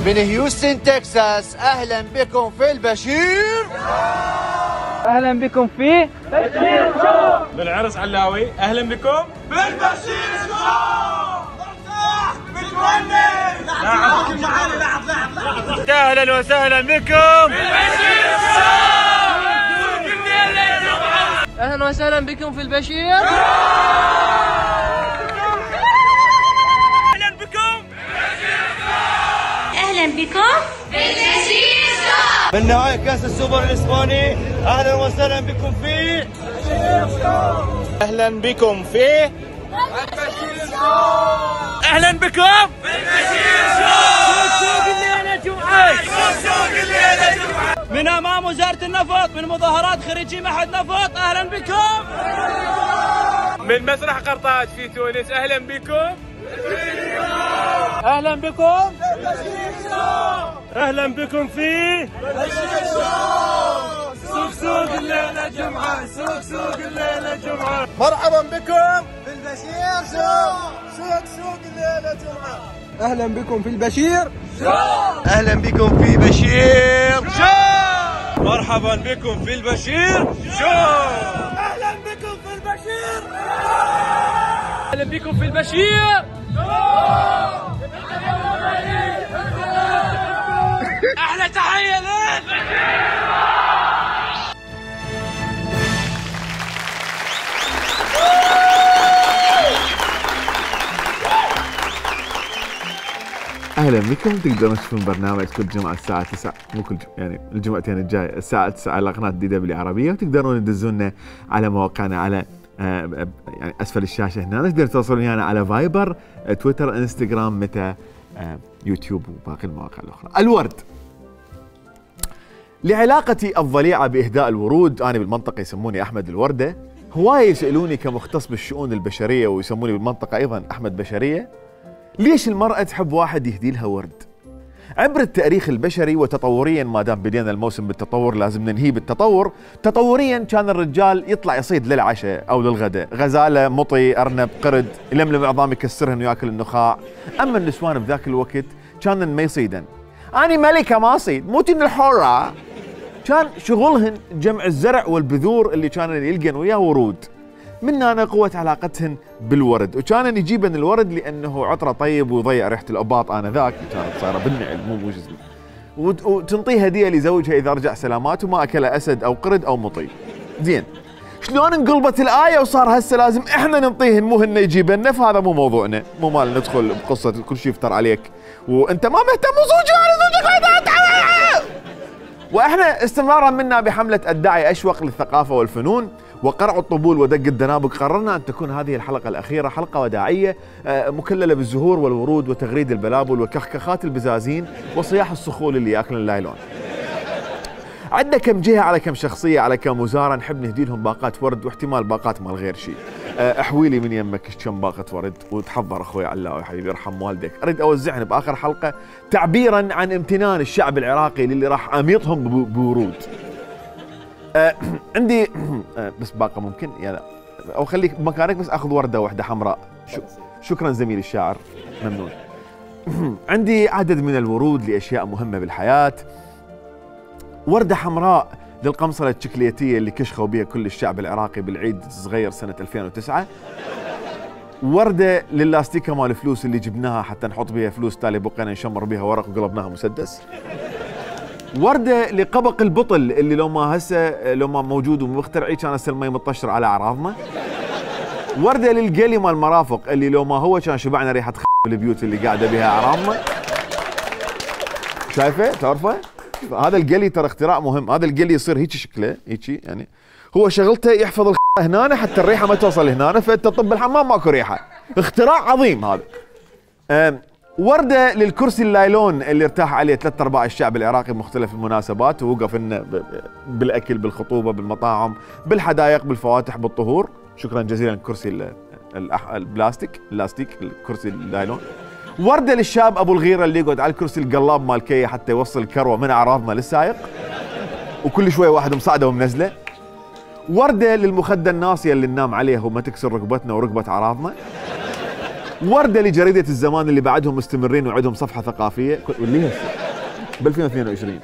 من هيوستن تكساس، اهلا بكم في البشير. اهلا بكم في بشير شو. من عرس علاوي، اهلا بكم في البشير شو. اهلا وسهلا بكم في البشير شو. اهلا وسهلا بكم في البشير. اهلا بكم اهلا بكم في البشير شو. من نهاية كاس السوبر الاسباني، اهلا وسهلا بكم في البشير شو. اهلا بكم في البشير شو. اهلا بكم في البشير شو. سوق الليله جمعه، سوق الليله جمعه. من امام وزاره النفط، من مظاهرات خريجي معهد نفط، اهلا بكم. من مسرح قرطاج في تونس، اهلا بكم. اهلا بكم. اهلا بكم في سوق الليله جمعه، سوق الليله جمعه. مرحبا بكم في البشير شو. سوق الليله جمعه. اهلا بكم في البشير. اهلا بكم في بشير شو. مرحبا بكم في البشير شو. اهلا بكم في البشير. اهلا بكم في البشير. احلى تحيه لك. اهلا بكم. تقدرون تشوفون برنامج كل جمعه الساعه 9، مو كل يعني الجمعتين الجايه الساعه 9 على قناه دي دبليو عربيه، وتقدرون تدزونا على مواقعنا على يعني اسفل الشاشه هنا. تقدرون توصلون يعني على فايبر، تويتر، انستغرام، متى، يوتيوب وباقي المواقع الاخرى. الورد. لعلاقتي الضليعه باهداء الورود، انا بالمنطقه يسموني احمد الورده، هوايه يسالوني كمختص بالشؤون البشريه ويسموني بالمنطقه ايضا احمد بشريه، ليش المرأة تحب واحد يهدي لها ورد؟ عبر التاريخ البشري وتطوريا، ما دام بدينا الموسم بالتطور لازم ننهيه بالتطور. تطوريا كان الرجال يطلع يصيد للعشاء او للغداء، غزاله، مطي، ارنب، قرد، يلملم عظام يكسرهن وياكل النخاع. اما النسوان بذاك الوقت كانن ما يصيدن. اني ملكه ما اصيد، موتين الحره. كان شغلهن جمع الزرع والبذور اللي كانن يلقن وياه ورود. من هنا قوة علاقتهن بالورد، وكان يجيبن الورد لأنه عطره طيب ويضيع ريحة الأباط آنذاك، كانت صايرة بالنعل مو جزء، وتنطيه هدية لزوجها إذا رجع سلامات وما أكل أسد أو قرد أو مطي. زين، شلون انقلبت الآية وصار هسه لازم إحنا ننطيهن مو هن يجيبن؟ فهذا مو موضوعنا، مو مال ندخل بقصة كل شيء يفتر عليك وأنت ما مهتم وزوجك وإحنا استمرارا منا بحملة الداعي أشوق للثقافة والفنون وقرع الطبول ودق الدنابق، قررنا أن تكون هذه الحلقة الأخيرة حلقة وداعية مكللة بالزهور والورود وتغريد البلابل وكخكخات البزازين وصياح الصخول اللي ياكلن اللايلون. عندنا كم جهة على كم شخصية على كم وزارة نحب نهدي لهم باقات ورد، واحتمال باقات مال غير شيء. احويلي من يمك كم باقة ورد، وتحضر اخوي علاوي حبيبي يرحم والدك، اريد اوزعهن باخر حلقة تعبيرا عن امتنان الشعب العراقي للي راح اميطهم بورود. عندي بس باقة ممكن يعني، او خليك بمكانك بس اخذ وردة واحدة حمراء. شكرا زميلي الشاعر، ممنون. عندي عدد من الورود لاشياء مهمة بالحياة. وردة حمراء للقمصلة الشكليتية اللي كشخوا بها كل الشعب العراقي بالعيد الصغير سنة 2009. وردة للاستيكة مال الفلوس اللي جبناها حتى نحط بها فلوس، تالي بقينا نشمر بها ورق وقلبناها مسدس. وردة لقبق البطل اللي لو ما موجود ومخترعي كان هسه المي مطشر على اعراضنا. وردة للقلي مال المرافق اللي لو ما هو كان شبعنا ريحة بالبيوت اللي قاعدة بها اعراضنا. شايفه؟ تعرفه؟ هذا القلي ترى اختراع مهم، هذا القلي يصير هيك شكله، هيك يعني هو شغلته يحفظ هنا حتى الريحه ما توصل هنا، فانت طب بالحمام ماكو ريحه. اختراع عظيم هذا. ورده للكرسي اللايلون اللي ارتاح عليه 3/4 الشعب العراقي بمختلف المناسبات، ووقف لنا بالاكل، بالخطوبه، بالمطاعم، بالحدائق، بالفواتح، بالطهور. شكرا جزيلا للكرسي البلاستيك، الكرسي اللايلون. ورده للشاب ابو الغيره اللي يقعد على الكرسي القلاب مال كيه حتى يوصل الكروه من اعراضنا للسائق، وكل شويه واحد مصعده ومنزله. ورده للمخده الناصيه اللي ننام عليها وما تكسر ركبتنا وركبه اعراضنا. وردة لجريدة الزمان اللي بعدهم مستمرين وعندهم صفحة ثقافية واللي هسه ب 2022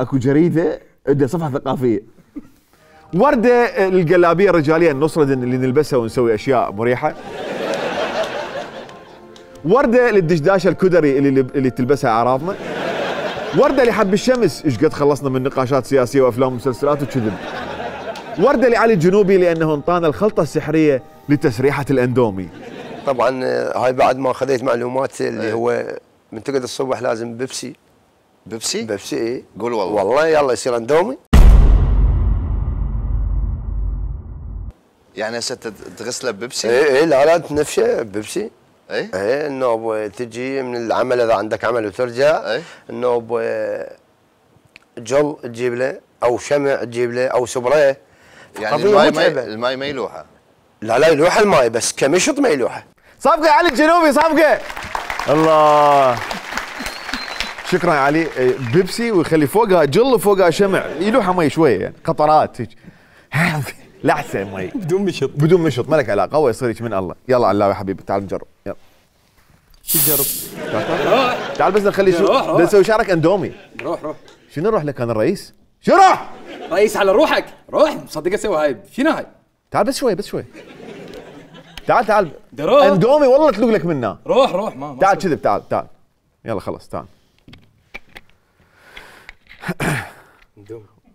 اكو جريدة عندها صفحة ثقافية. وردة للقلابية الرجالية النصرة اللي نلبسها ونسوي اشياء مريحة. وردة للدشداشة الكدري اللي تلبسها اعراضنا. وردة لحب الشمس، ايش قد خلصنا من نقاشات سياسية وافلام ومسلسلات وكذب. وردة لعلي الجنوبي لانه انطانا الخلطة السحرية لتسريحة الاندومي. طبعا هاي بعد ما خذيت معلومات اللي هو من تقعد الصبح لازم بيبسي. بيبسي؟ بيبسي ايه؟ قول والله. والله يلا يصير اندومي. يعني هسه تغسله ببيبسي؟ ايه لا تنفشه بيبسي. ايه انه تجي من العمل اذا عندك عمل وترجع انه جل تجيب له او شمع تجيب له او سبرايه. يعني الماي ما يلوحه. لا يلوح الماي بس كمشط ما يلوحه. صفقة علي الجنوبي صفقة. الله شكرا علي. بيبسي ويخلي فوقها جل وفوقها شمع يلوحها مي شويه يعني قطرات هيك. لحسه مي بدون مشط ما لك علاقه. هو يصير هيك من الله. يلا على الله يا حبيبي تعال نجرب. يلا شو تجرب؟ تعال بس نخلي شو نسوي شارك اندومي. روح شنو نروح لك انا الرئيس؟ شو روح؟ رئيس على روحك روح مصدق اسوي هاي شنو هاي؟ تعال بس شوي تعال دروح. اندومي والله تلوق لك منه. روح ما تعال كذب تعال يلا خلاص تعال.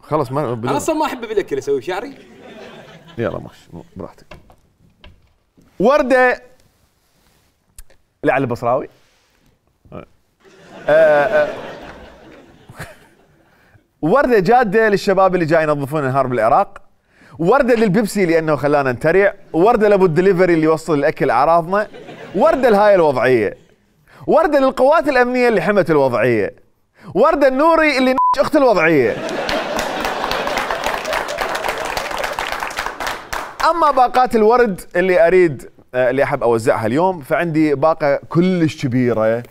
خلاص ما انا اصلا ما احب بالاكل اسوي شعري. يلا ماشي براحتك. وردة لعلي البصراوي. وردة جادة للشباب اللي جاي ينظفون انهار بالعراق. وردة للبيبسي لانه خلانا نتريع. وردة لابو الدليفري اللي يوصل الاكل اعراضنا. وردة لهاي الوضعية. وردة للقوات الامنية اللي حمت الوضعية. وردة النوري اللي اخت الوضعية. اما باقات الورد اللي احب اوزعها اليوم فعندي باقة كلش كبيرة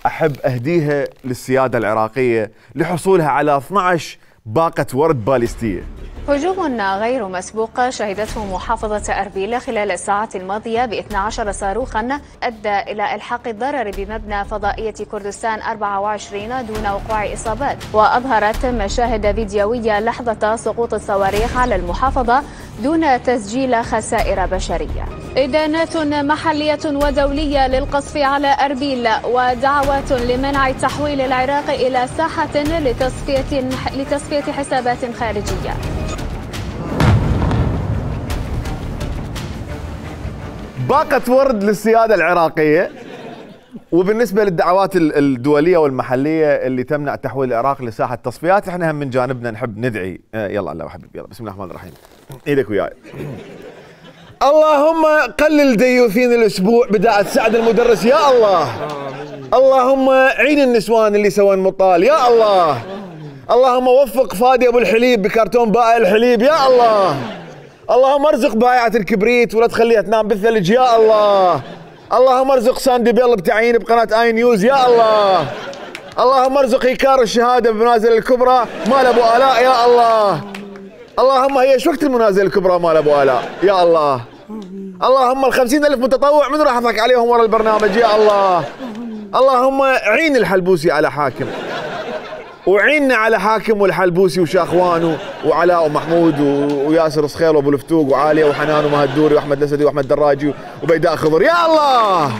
احب اهديها للسيادة العراقية لحصولها على 12 باقة ورد باليستية. هجوم غير مسبوق شهدته محافظة أربيل خلال الساعات الماضية ب12 صاروخا أدى إلى إلحاق الضرر بمبنى فضائية كردستان 24 دون وقوع إصابات. وأظهرت مشاهد فيديوية لحظة سقوط الصواريخ على المحافظة دون تسجيل خسائر بشرية. إدانات محلية ودولية للقصف على أربيل ودعوات لمنع تحويل العراق إلى ساحة لتصفية حسابات خارجية. باقة ورد للسيادة العراقية. وبالنسبة للدعوات الدولية والمحلية اللي تمنع تحويل العراق لساحة تصفيات احنا هم من جانبنا نحب ندعي. يلا الله حبيبي يلا بسم الله الرحمن الرحيم. ايدك وياي. اللهم قلل ديوثين الاسبوع بداعة سعد المدرس يا الله. اللهم عين النسوان اللي سووا مطال يا الله. اللهم وفق فادي ابو الحليب بكرتون بائع الحليب يا الله. اللهم ارزق بائعة الكبريت ولا تخليها تنام بالثلج يا الله. اللهم ارزق ساندي بيل بتعيين بقناة اي نيوز يا الله. اللهم ارزق ايكار الشهادة بمنازل الكبرى مال ابو آلاء يا الله. اللهم هي ايش وقت المنازل الكبرى مال ابو آلاء يا الله. اللهم ال50,000 متطوع من راح اضحك عليهم ورا البرنامج يا الله. اللهم عين الحلبوسي على حاكم وعيننا على حاكم والحلبوسي وشاخوان وعلاء ومحمود وياسر صخيل وابو الفتوق وعاليه وحنان ومهدوري واحمد الاسدي واحمد دراجي وبيداء خضر يا الله.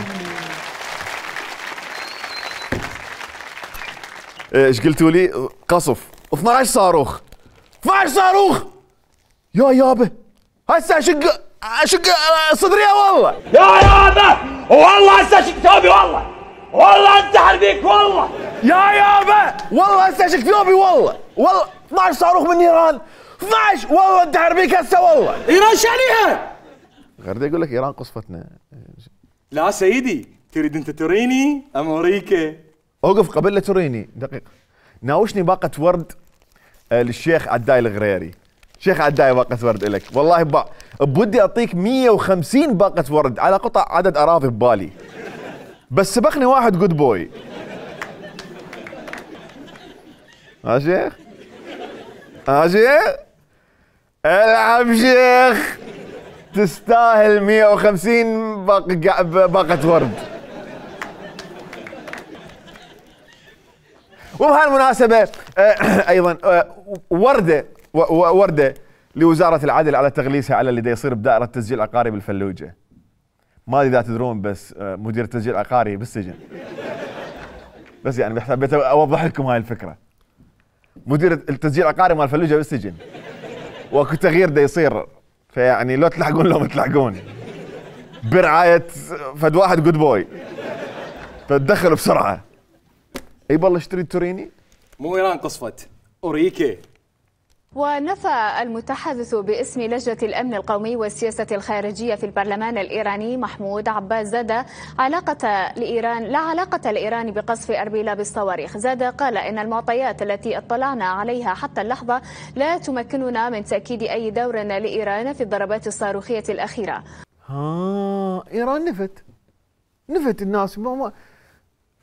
ايش قلتوا لي؟ قصف 12 صاروخ 12 صاروخ يا يابا. هسه اشق صدري والله يا يابا والله هسه اشق ثوبي والله انتحر بيك والله يا يابا والله هسه اشق ثوبي والله 12 صاروخ من ايران 12 والله انتحر بيك هسه والله. ايران شعنيها؟ غير يقول لك ايران قصفتنا. لا سيدي تريد انت تريني امريكا. اوقف قبل لا تريني دقيقه. ناوشني باقه ورد للشيخ عداي الغريري. شيخ عداي باقه ورد لك والله بودي اعطيك 150 باقه ورد على قطع عدد اراضي ببالي بس سبقني واحد جود بوي. ها شيخ ها شيخ العب شيخ تستاهل 150 باقة ورد. وبهالمناسبة ايضا وردة لوزارة العدل على تغليسها على اللي دا يصير بدائرة تسجيل عقاري بالفلوجة. ما ادري اذا تدرون بس مدير التسجيل العقاري بالسجن. بس يعني حبيت اوضح لكم هاي الفكرة. مدير التسجيل العقاري مال الفلوجة بالسجن. واكو تغيير دا يصير، فيعني لو تلحقون لو ما تلحقون. برعاية فد واحد جود بوي. فتدخلوا بسرعة. اي والله اشتري توريني؟ مو ايران قصفت، اوريكي. ونفى المتحدث باسم لجنة الأمن القومي والسياسة الخارجية في البرلمان الإيراني محمود عباس زاد لا علاقة لإيران بقصف أربيل بالصواريخ. زاد قال إن المعطيات التي اطلعنا عليها حتى اللحظة لا تمكننا من تأكيد أي دور لإيران في الضربات الصاروخية الأخيرة. إيران نفت الناس.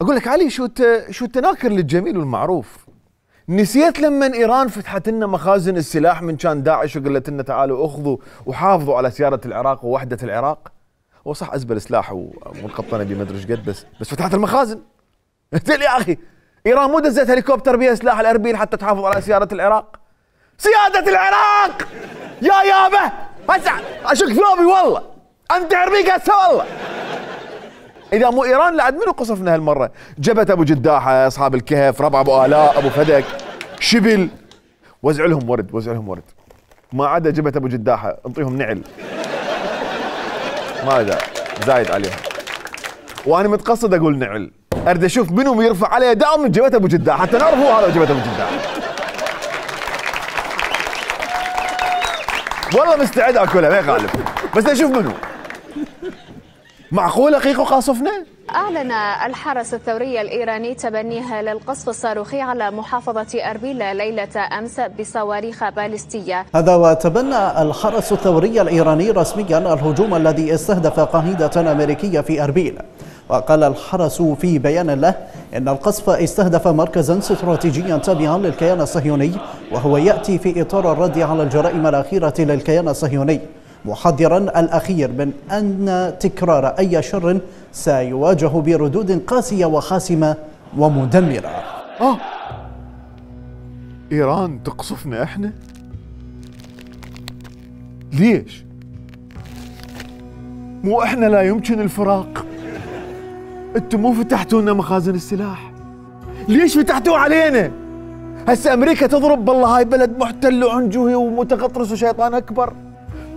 أقول لك علي شو التناكر للجميل والمعروف. نسيت لما إيران فتحت لنا مخازن السلاح من كان داعش وقالت لنا تعالوا اخذوا وحافظوا على سيادة العراق ووحدة العراق. هو صح أزبل سلاح ومنقطنة بمدري ايش قد بس فتحت المخازن. قلت لي يا أخي إيران مو دزت هليكوبتر بيها سلاح الأربيل حتى تحافظ على سيادة العراق. سيادة العراق يا يابا هسه أشك ثوبي والله أنتحر بيك هسه والله. إذا مو إيران لعد منو قصفنا هالمرة؟ جبت أبو جداحة، أصحاب الكهف، ربع أبو آلاء، أبو فدك، شبل. وزع لهم ورد. ما عدا جبت أبو جداحة، انطيهم نعل. ما دا زايد عليهم. وأنا متقصد أقول نعل. أريد أشوف منو يرفع عليه دعم من جبت أبو جداحة حتى نعرف هو هذا جبت أبو جداحة. والله مستعد أكلها ما يخالف، بس أشوف منو. معقولة قيقو قاصفنا؟ أعلن الحرس الثوري الإيراني تبنيه للقصف الصاروخي على محافظة أربيل ليلة أمس بصواريخ باليستية. هذا وتبنى الحرس الثوري الإيراني رسميا الهجوم الذي استهدف قاعدة أمريكية في أربيل. وقال الحرس في بيان له إن القصف استهدف مركزا استراتيجيا تابعا للكيان الصهيوني، وهو يأتي في إطار الرد على الجرائم الأخيرة للكيان الصهيوني، محذرا الأخير من أن تكرار أي شر سيواجه بردود قاسية وحاسمة ومدمرة. إيران تقصفنا إحنا؟ ليش؟ مو إحنا لا يمكن الفراق؟ أنتم مو فتحتوا لنا مخازن السلاح؟ ليش فتحتوا علينا؟ هسه أمريكا تضرب بالله هاي بلد محتل وعنجهي ومتغطرس وشيطان أكبر.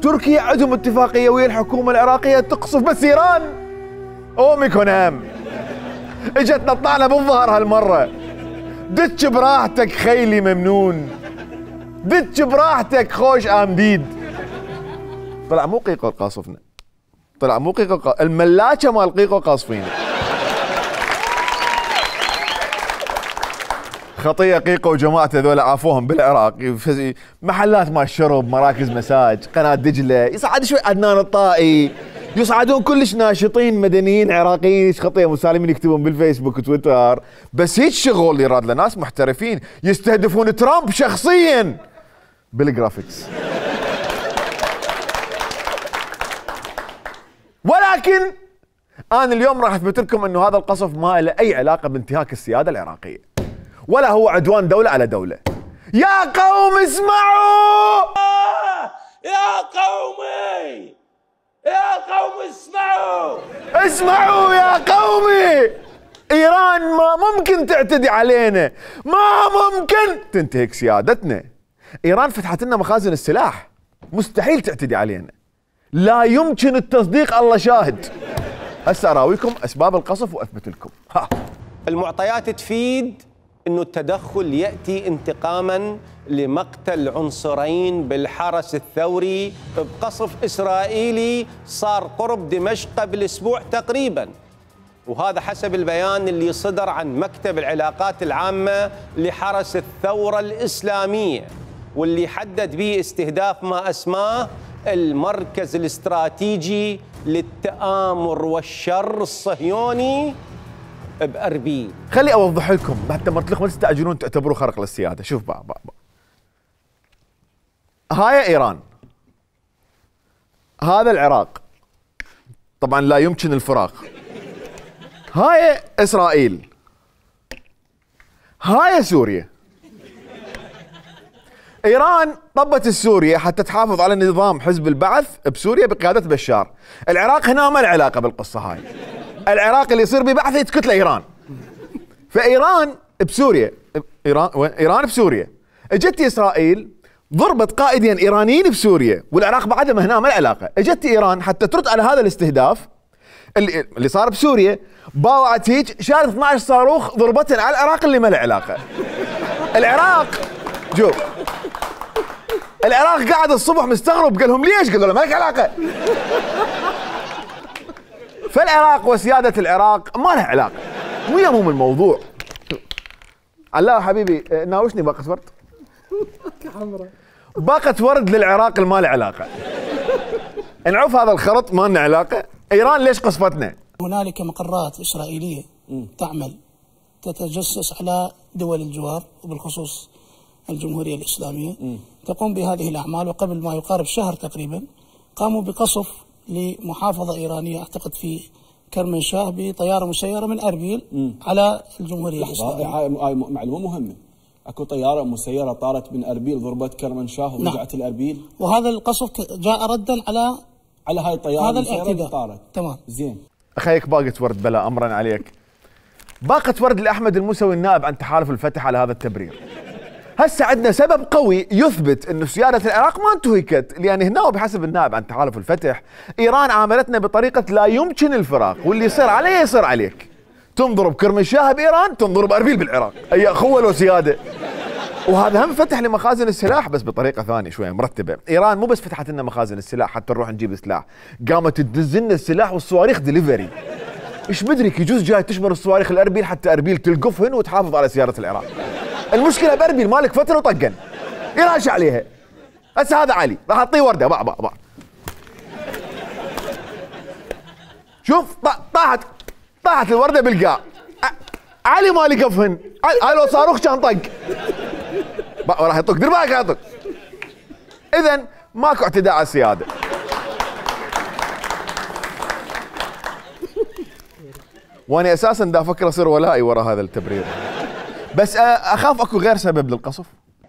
تركيا عندهم اتفاقية ويا الحكومة العراقية تقصف، بس إيران أوميكو نام. اجت نطعنا بالظهر هالمرة. دتش براحتك خيلي ممنون، دتش براحتك خوش آمديد. طلع مو قيقو قاصفنا، طلع مو قيقو الملاكة مال قيقو قاصفين. خطية قيقو وجماعته ذولا عافوهم بالعراق، محلات مال شرب، مراكز مساج، قناة دجلة، يصعد شوي عدنان الطائي، يصعدون كلش ناشطين مدنيين عراقيين خطية مسالمين يكتبون بالفيسبوك وتويتر، بس هيك شغل يراد لناس محترفين يستهدفون ترامب شخصيا بالجرافيكس. ولكن أنا اليوم راح أثبت لكم إنه هذا القصف ما له أي علاقة بانتهاك السيادة العراقية، ولا هو عدوان دولة على دولة. يا قوم اسمعوا! يا قومي! يا قوم اسمعوا! اسمعوا يا قومي! إيران ما ممكن تعتدي علينا، ما ممكن تنتهك سيادتنا. إيران فتحت لنا مخازن السلاح، مستحيل تعتدي علينا. لا يمكن التصديق، الله شاهد. هسه أراويكم أسباب القصف وأثبت لكم. المعطيات تفيد أنه التدخل يأتي انتقاما لمقتل عنصرين بالحرس الثوري بقصف إسرائيلي صار قرب دمشق قبل أسبوع تقريبا، وهذا حسب البيان اللي صدر عن مكتب العلاقات العامة لحرس الثورة الإسلامية، واللي حدد به استهداف ما أسماه المركز الاستراتيجي للتآمر والشر الصهيوني بأربيل. خلي أوضح لكم حتى ما تستعجلون تعتبروا خرق للسيادة. شوف بقى. هاي إيران، هذا العراق طبعا لا يمكن الفراق. هاي اسرائيل. هاي سوريا. ايران طبت السوريا حتى تحافظ على نظام حزب البعث بسوريا بقياده بشار. العراق هنا ما له علاقه بالقصه هاي. العراق اللي يصير ببعث يتكت له ايران. فايران بسوريا، ايران بسوريا، اجت اسرائيل ضربت قائدين ايرانيين بسوريا، والعراق بعدها ما هنا ما له علاقه. اجت ايران حتى ترد على هذا الاستهداف اللي صار بسوريا، باوعت هيك شالت 12 صاروخ ضربتهم على العراق اللي ما له علاقه. العراق جو العراق قاعد الصبح مستغرب، قال لهم ليش؟ قالوا له ما لك علاقه. فالعراق وسياده العراق ما له علاقه، مو يهمهم الموضوع. علاء حبيبي ناوشني باقة ورد. باقة ورد للعراق اللي ما له علاقه. نعوف هذا الخرط ما لنا علاقه. ايران ليش قصفتنا؟ هنالك مقرات اسرائيليه تعمل تتجسس على دول الجوار وبالخصوص الجمهوريه الاسلاميه، تقوم بهذه الاعمال. وقبل ما يقارب شهر تقريبا قاموا بقصف لمحافظه ايرانيه اعتقد في كرمنشاه بطياره مسيره من اربيل على الجمهوريه الاسلاميه. هاي معلومه مهمه. اكو طياره مسيره طارت من اربيل ضربت كرمنشاه ورجعت الاربيل. وهذا القصف جاء ردا على هاي الطياره هذا الاعتداء. طارت. تمام. زين. اخيك باقة ورد بلا امرا عليك. باقة ورد لاحمد الموسوي النائب عن تحالف الفتح على هذا التبرير. هسه عندنا سبب قوي يثبت انه سياده العراق ما انتهكت، لان هنا وبحسب النائب عن تحالف الفتح ايران عاملتنا بطريقه لا يمكن الفراق، واللي يصير عليه يصير عليك. تنضرب كرمنشاه بايران، تنضرب اربيل بالعراق، اي اخوه لو سياده. وهذا هم فتح لمخازن السلاح بس بطريقه ثانيه شويه مرتبه. ايران مو بس فتحت لنا مخازن السلاح حتى نروح نجيب سلاح، قامت تدز لنا السلاح والصواريخ دليفري. ايش بدرك يجوز جاي تشمر الصواريخ الاربيل حتى اربيل تلقفهن وتحافظ على سياره العراق. المشكله باربيل مالك فتره وطقن يراش عليها. هسه هذا علي راح اعطيه ورده باع. شوف طاحت الورده بالقاع. علي ما لقفهن، هاي لو صاروخ كان طق راح يطق. دير بالك يطق. اذا ماكو اعتداء على السياده. وانا اساسا دا افكر اصير ولائي ورا هذا التبرير، بس اخاف اكو غير سبب للقصف.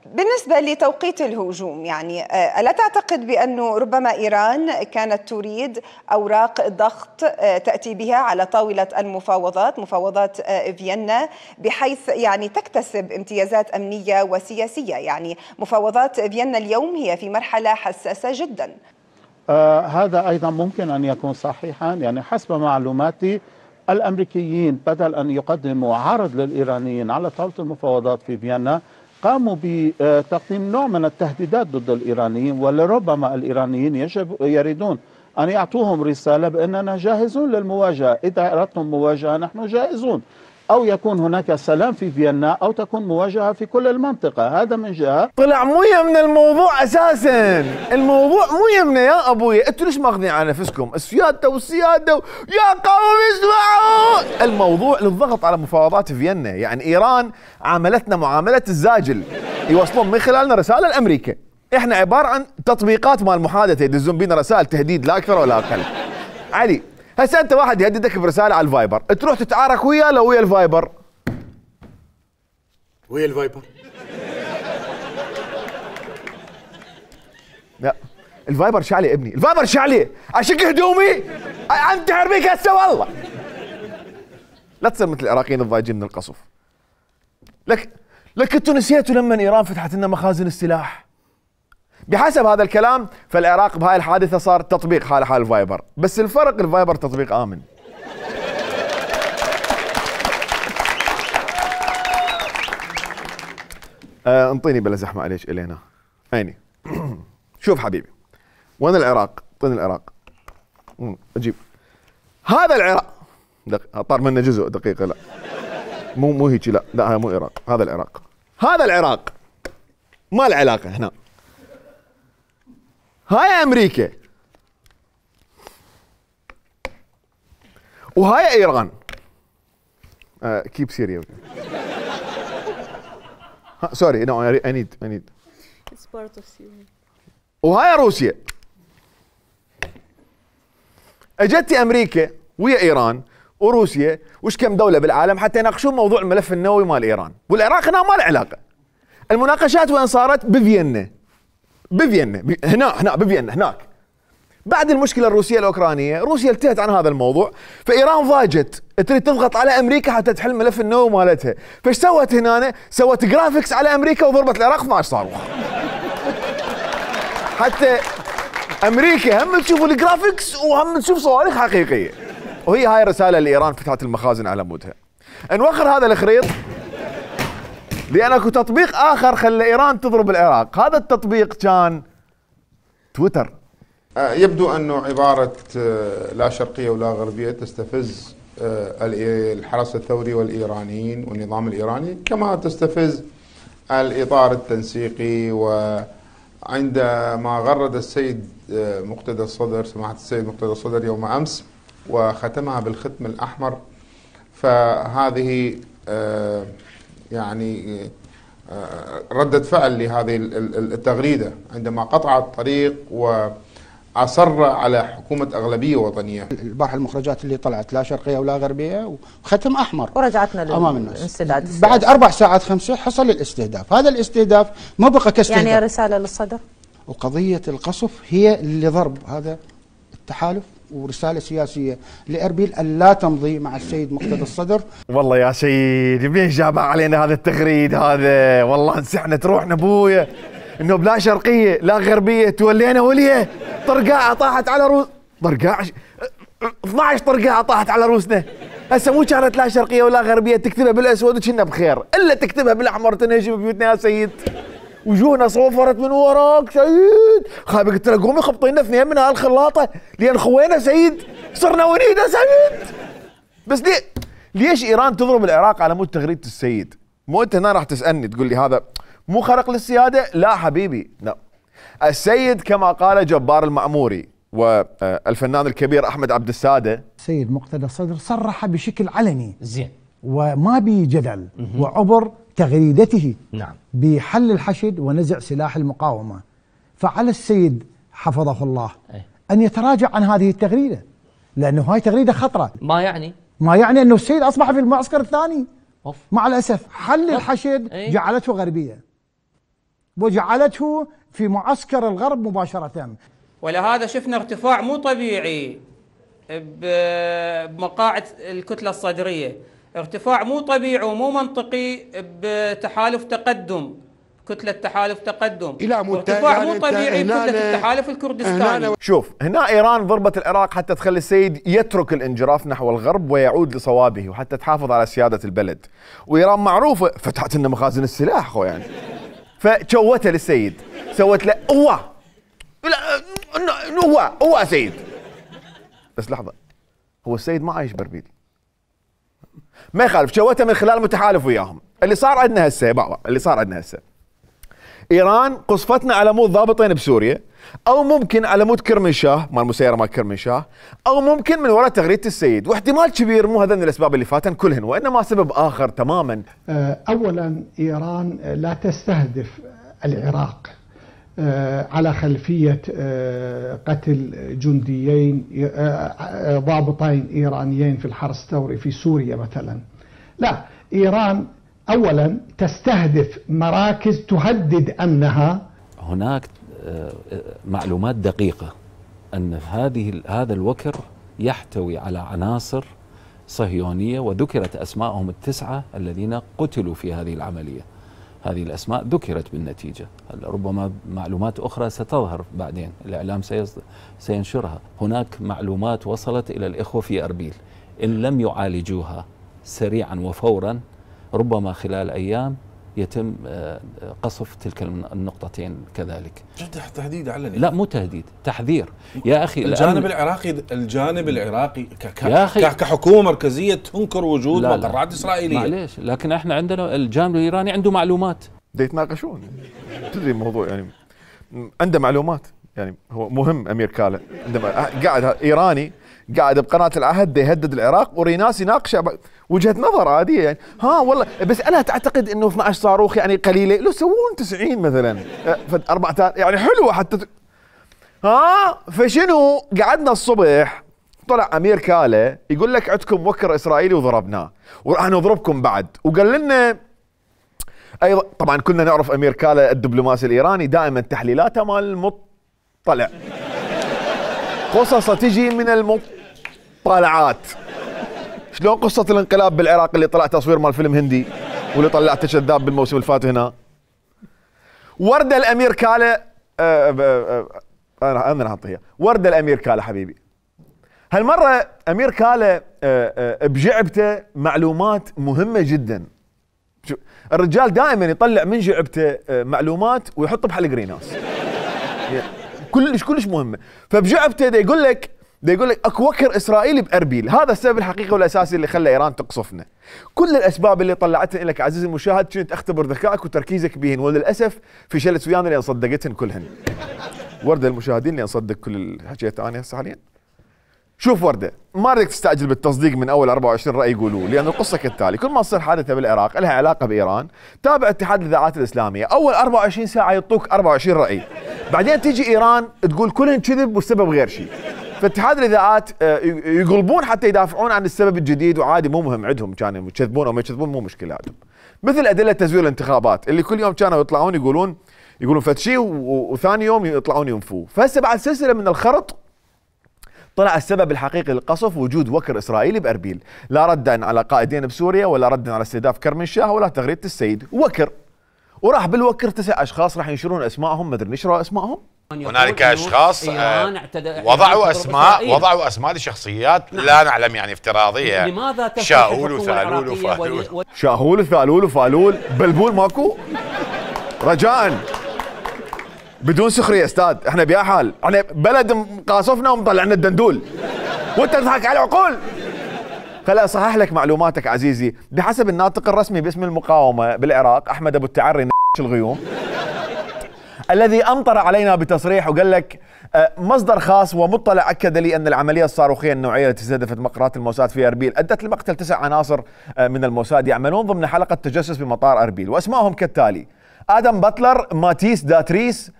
بالنسبة لتوقيت الهجوم، يعني ألا تعتقد بأنه ربما إيران كانت تريد أوراق ضغط تأتي بها على طاولة المفاوضات، مفاوضات فيينا، بحيث يعني تكتسب امتيازات أمنية وسياسية؟ يعني مفاوضات فيينا اليوم هي في مرحلة حساسة جدا. هذا أيضا ممكن أن يكون صحيحا. يعني حسب معلوماتي الأمريكيين بدل أن يقدموا عرض للإيرانيين على طاولة المفاوضات في فيينا قاموا بتقديم نوع من التهديدات ضد الإيرانيين، ولربما الإيرانيين يريدون أن يعطوهم رسالة بأننا جاهزون للمواجهة، إذا أردتم مواجهة نحن جاهزون، أو يكون هناك سلام في فيينا أو تكون مواجهة في كل المنطقة. هذا من جهة. طلع مو يمنا الموضوع أساسا، الموضوع مو يمنا يا أبوي. أنتوا ليش ماخذين على نفسكم السيادة والسيادة يا قوم اسمعوا؟ الموضوع للضغط على مفاوضات فيينا. يعني إيران عاملتنا معاملة الزاجل، يوصلون من خلالنا رسالة لأمريكا. إحنا عبارة عن تطبيقات مال محادثة، يدزون بينا رسائل تهديد لا أكثر ولا أقل. علي هسه انت واحد يهددك برساله على الفايبر، تروح تتعارك وياه لو ويا الفايبر؟ ويا الفايبر؟ لا الفايبر شعلي ابني، الفايبر شعلي اشق هدومي انتحر بيك هسه والله. لا تصير مثل العراقيين الضايجين من القصف. لك انتوا نسيتوا لما ايران فتحت لنا مخازن السلاح؟ بحسب هذا الكلام فالعراق بهاي الحادثة صار تطبيق حال الفايبر، بس الفرق الفايبر تطبيق آمن. انطيني بلا زحمة عليك إلينا. عيني. شوف حبيبي، وين العراق؟ اعطيني العراق. اجيب هذا العراق. طار منه جزء دقيقة. لا مو هيك. لا هذا مو العراق، هذا العراق. هذا العراق ما له علاقة هنا. هاي امريكا وهاي ايران. كيب سيريا. سوري نو اي نيد. وهاي روسيا. اجت امريكا ويا ايران وروسيا وش كم دوله بالعالم حتى يناقشون موضوع الملف النووي مال ايران، والعراق هنا ما له علاقه. المناقشات وين صارت؟ بفيينا. هنا بفيينا هناك. بعد المشكله الروسيه الاوكرانيه، روسيا التهت عن هذا الموضوع، فايران ضاجت تريد تضغط على امريكا حتى تحل ملف النووي مالتها، فايش سوت هنا؟ سوت جرافيكس على امريكا وضربت العراق 12 صاروخ. حتى امريكا هم تشوف الجرافيكس وهم تشوف صواريخ حقيقيه. وهي هاي الرساله اللي ايران فتحت المخازن على مودها. نوخر هذا الخريط لان اكو تطبيق اخر خلى ايران تضرب العراق، هذا التطبيق كان تويتر. يبدو انه عباره لا شرقيه ولا غربيه تستفز الحرس الثوري والايرانيين والنظام الايراني كما تستفز الاطار التنسيقي. وعندما غرد السيد مقتدى الصدر، سماحه السيد مقتدى الصدر يوم امس وختمها بالختم الاحمر، فهذه يعني ردة فعل لهذه التغريدة عندما قطع الطريق وأصر على حكومة أغلبية وطنية. البارحة المخرجات اللي طلعت لا شرقية ولا غربية وختم أحمر ورجعتنا أمام الناس. بعد 4 ساعات 5 حصل الاستهداف. هذا الاستهداف ما بقى كاستهداف، يعني رسالة للصدر. وقضية القصف هي اللي ضرب هذا التحالف، ورسالة سياسية لأربيل أن لا تمضي مع السيد مقتدى الصدر. والله يا سيد منين جاب علينا هذا التغريد هذا؟ والله انسحنت روحنا ابويا، انه بلا شرقية لا غربية تولينا وليه. طرقاعة طاحت على روس، طرقاعة 12 طرقاعة طاحت على روسنا. هسه مو كانت لا شرقية ولا غربية تكتبها بالاسود وكنا بخير، الا تكتبها بالاحمر تنهجم بيوتنا يا سيد. وجوهنا صوفرت من وراك سيد، خايب قلت له قومي خبطينا 2 من هالخلاطه لان خوينا سيد، صرنا ونيده سيد. بس ليش ايران تضرب العراق على مود تغريده السيد؟ مو انت هنا راح تسالني تقول لي هذا مو خرق للسياده؟ لا حبيبي، لا. السيد كما قال جبار المعموري والفنان الكبير احمد عبد الساده، السيد مقتدى الصدر صرح بشكل علني زين وما بي جدل وعبر تغريدته نعم بحل الحشد ونزع سلاح المقاومة. فعلى السيد حفظه الله أن يتراجع عن هذه التغريدة، لأنه هاي تغريدة خطرة. ما يعني أنه السيد أصبح في المعسكر الثاني. مع الأسف حل الحشد جعلته غربية وجعلته في معسكر الغرب مباشرة. ولهذا شفنا ارتفاع مو طبيعي بمقاعد الكتلة الصدرية، ارتفاع مو طبيعي ومو منطقي بتحالف تقدم، كتلة تحالف تقدم، ارتفاع مو طبيعي بكتلة التحالف الكردستاني. شوف هنا ايران ضربت العراق حتى تخلي السيد يترك الانجراف نحو الغرب ويعود لصوابه وحتى تحافظ على سيادة البلد. وايران معروفة فتحت لنا مخازن السلاح خو يعني. فشوتها للسيد، سوت له هو سيد. بس لحظة، هو السيد ما عايش باربيل، ما يخالف، شوتها من خلال متحالف وياهم. اللي صار عندنا هسه ايران قصفتنا على مود ضابطين بسوريا، او ممكن على مود كرمنشاه مال مسيره مال كرمنشاه، او ممكن من وراء تغريده السيد، واحتمال كبير مو هذين الاسباب اللي فاتن كلهن، وانما سبب اخر تماما. اولا ايران لا تستهدف العراق على خلفيه قتل جنديين ضابطين ايرانيين في الحرس الثوري في سوريا مثلا. لا، ايران اولا تستهدف مراكز تهدد امنها. هناك معلومات دقيقه ان هذا الوكر يحتوي على عناصر صهيونيه، وذكرت اسماءهم ال9 الذين قتلوا في هذه العمليه. هذه الاسماء ذكرت بالنتيجه، ربما معلومات اخرى ستظهر بعدين، الاعلام سينشرها. هناك معلومات وصلت الى الاخوه في اربيل، ان لم يعالجوها سريعا وفورا ربما خلال ايام يتم قصف تلك النقطتين كذلك. تهديد علني؟ لا مو تهديد، تحذير يا اخي. الجانب العراقي كحكومه مركزيه تنكر وجود مقرات اسرائيليه. معليش، لكن احنا عندنا الجانب الايراني عنده معلومات. يتناقشون، تدري الموضوع يعني عنده معلومات، يعني هو مهم امير كاله عندما قاعد ايراني قاعد بقناه العهد يهدد العراق وريناس يناقش وجهه نظر عاديه يعني. والله بس انا تعتقد انه 12 صاروخ يعني قليله؟ لو سوون 90 مثلا 14 يعني حلوه حتى. فشنو قعدنا الصبح طلع امير كاله يقول لك عندكم وكر اسرائيلي وضربناه وراح نضربكم بعد، وقال لنا ايضا. طبعا كنا نعرف امير كاله الدبلوماسي الايراني دائما تحليلاته مال المطلع، قصصه تجي من المطلعات. شلون قصه الانقلاب بالعراق اللي طلع تصوير مال فيلم هندي واللي طلعته كذاب بالموسم الفات هنا. ورده الامير كاله انا نحطها ورده الامير كاله حبيبي. هالمره امير كاله بجعبته معلومات مهمه جدا. الرجال دائما يطلع من جعبته معلومات ويحط بحلق ريناس كلش مهمه. فبجعبته دا يقول لك اكو وكر اسرائيلي باربيل، هذا السبب الحقيقي والاساسي اللي خلى ايران تقصفنا. كل الاسباب اللي طلعتها لك عزيزي المشاهد كنت اختبر ذكائك وتركيزك بهن، وللاسف فشلت ويانا لان صدقتهن كلهن. ورده المشاهدين لان صدق كل اللي حكيته انا هسه حاليا. شوف ورده، ما بدك تستعجل بالتصديق من اول 24 راي يقولوه، لان القصه كالتالي: كل ما تصير حادثه بالعراق لها علاقه بايران تابع اتحاد الاذاعات الاسلاميه، اول 24 ساعه يعطوك 24 راي، بعدين تيجي ايران تقول كلهن كذب والسبب غير شيء. فاتحاد الاذاعات يقلبون حتى يدافعون عن السبب الجديد، وعادي مو مهم عندهم كانوا يكذبون او ما يكذبون مو مشكله عندهم. مثل ادله تزوير الانتخابات اللي كل يوم كانوا يطلعون يقولون فتشي وثاني يوم يطلعون ينفوه. فهسه بعد سلسله من الخرط طلع السبب الحقيقي للقصف وجود وكر اسرائيلي باربيل، لا ردا على قائدين بسوريا ولا ردا على استهداف كرمنشاه ولا تغريده السيد، وكر. وراح بالوكر 9 اشخاص راح ينشرون اسمائهم، ما ادري نشروا اسمائهم. هنالك اشخاص وضعوا اسماء لشخصيات لا نعلم يعني افتراضيه يعني. لماذا شاؤول وثالول وفالول شاهول وثالول وفالول بلبول ماكو؟ رجاء بدون سخريه استاذ، احنا بيا حال، احنا بلد مقاصفنا ومطلعنا الدندول وانت تضحك على العقول. خليني اصحح لك معلوماتك عزيزي، بحسب الناطق الرسمي باسم المقاومه بالعراق احمد ابو التعري الغيوم الذي امطر علينا بتصريح وقال لك مصدر خاص ومطلع اكد لي ان العمليه الصاروخيه النوعيه التي استهدفت مقرات الموساد في اربيل ادت لمقتل 9 عناصر من الموساد يعملون ضمن حلقه تجسس بمطار اربيل، واسمائهم كالتالي: ادم باتلر، ماتيس داتريس،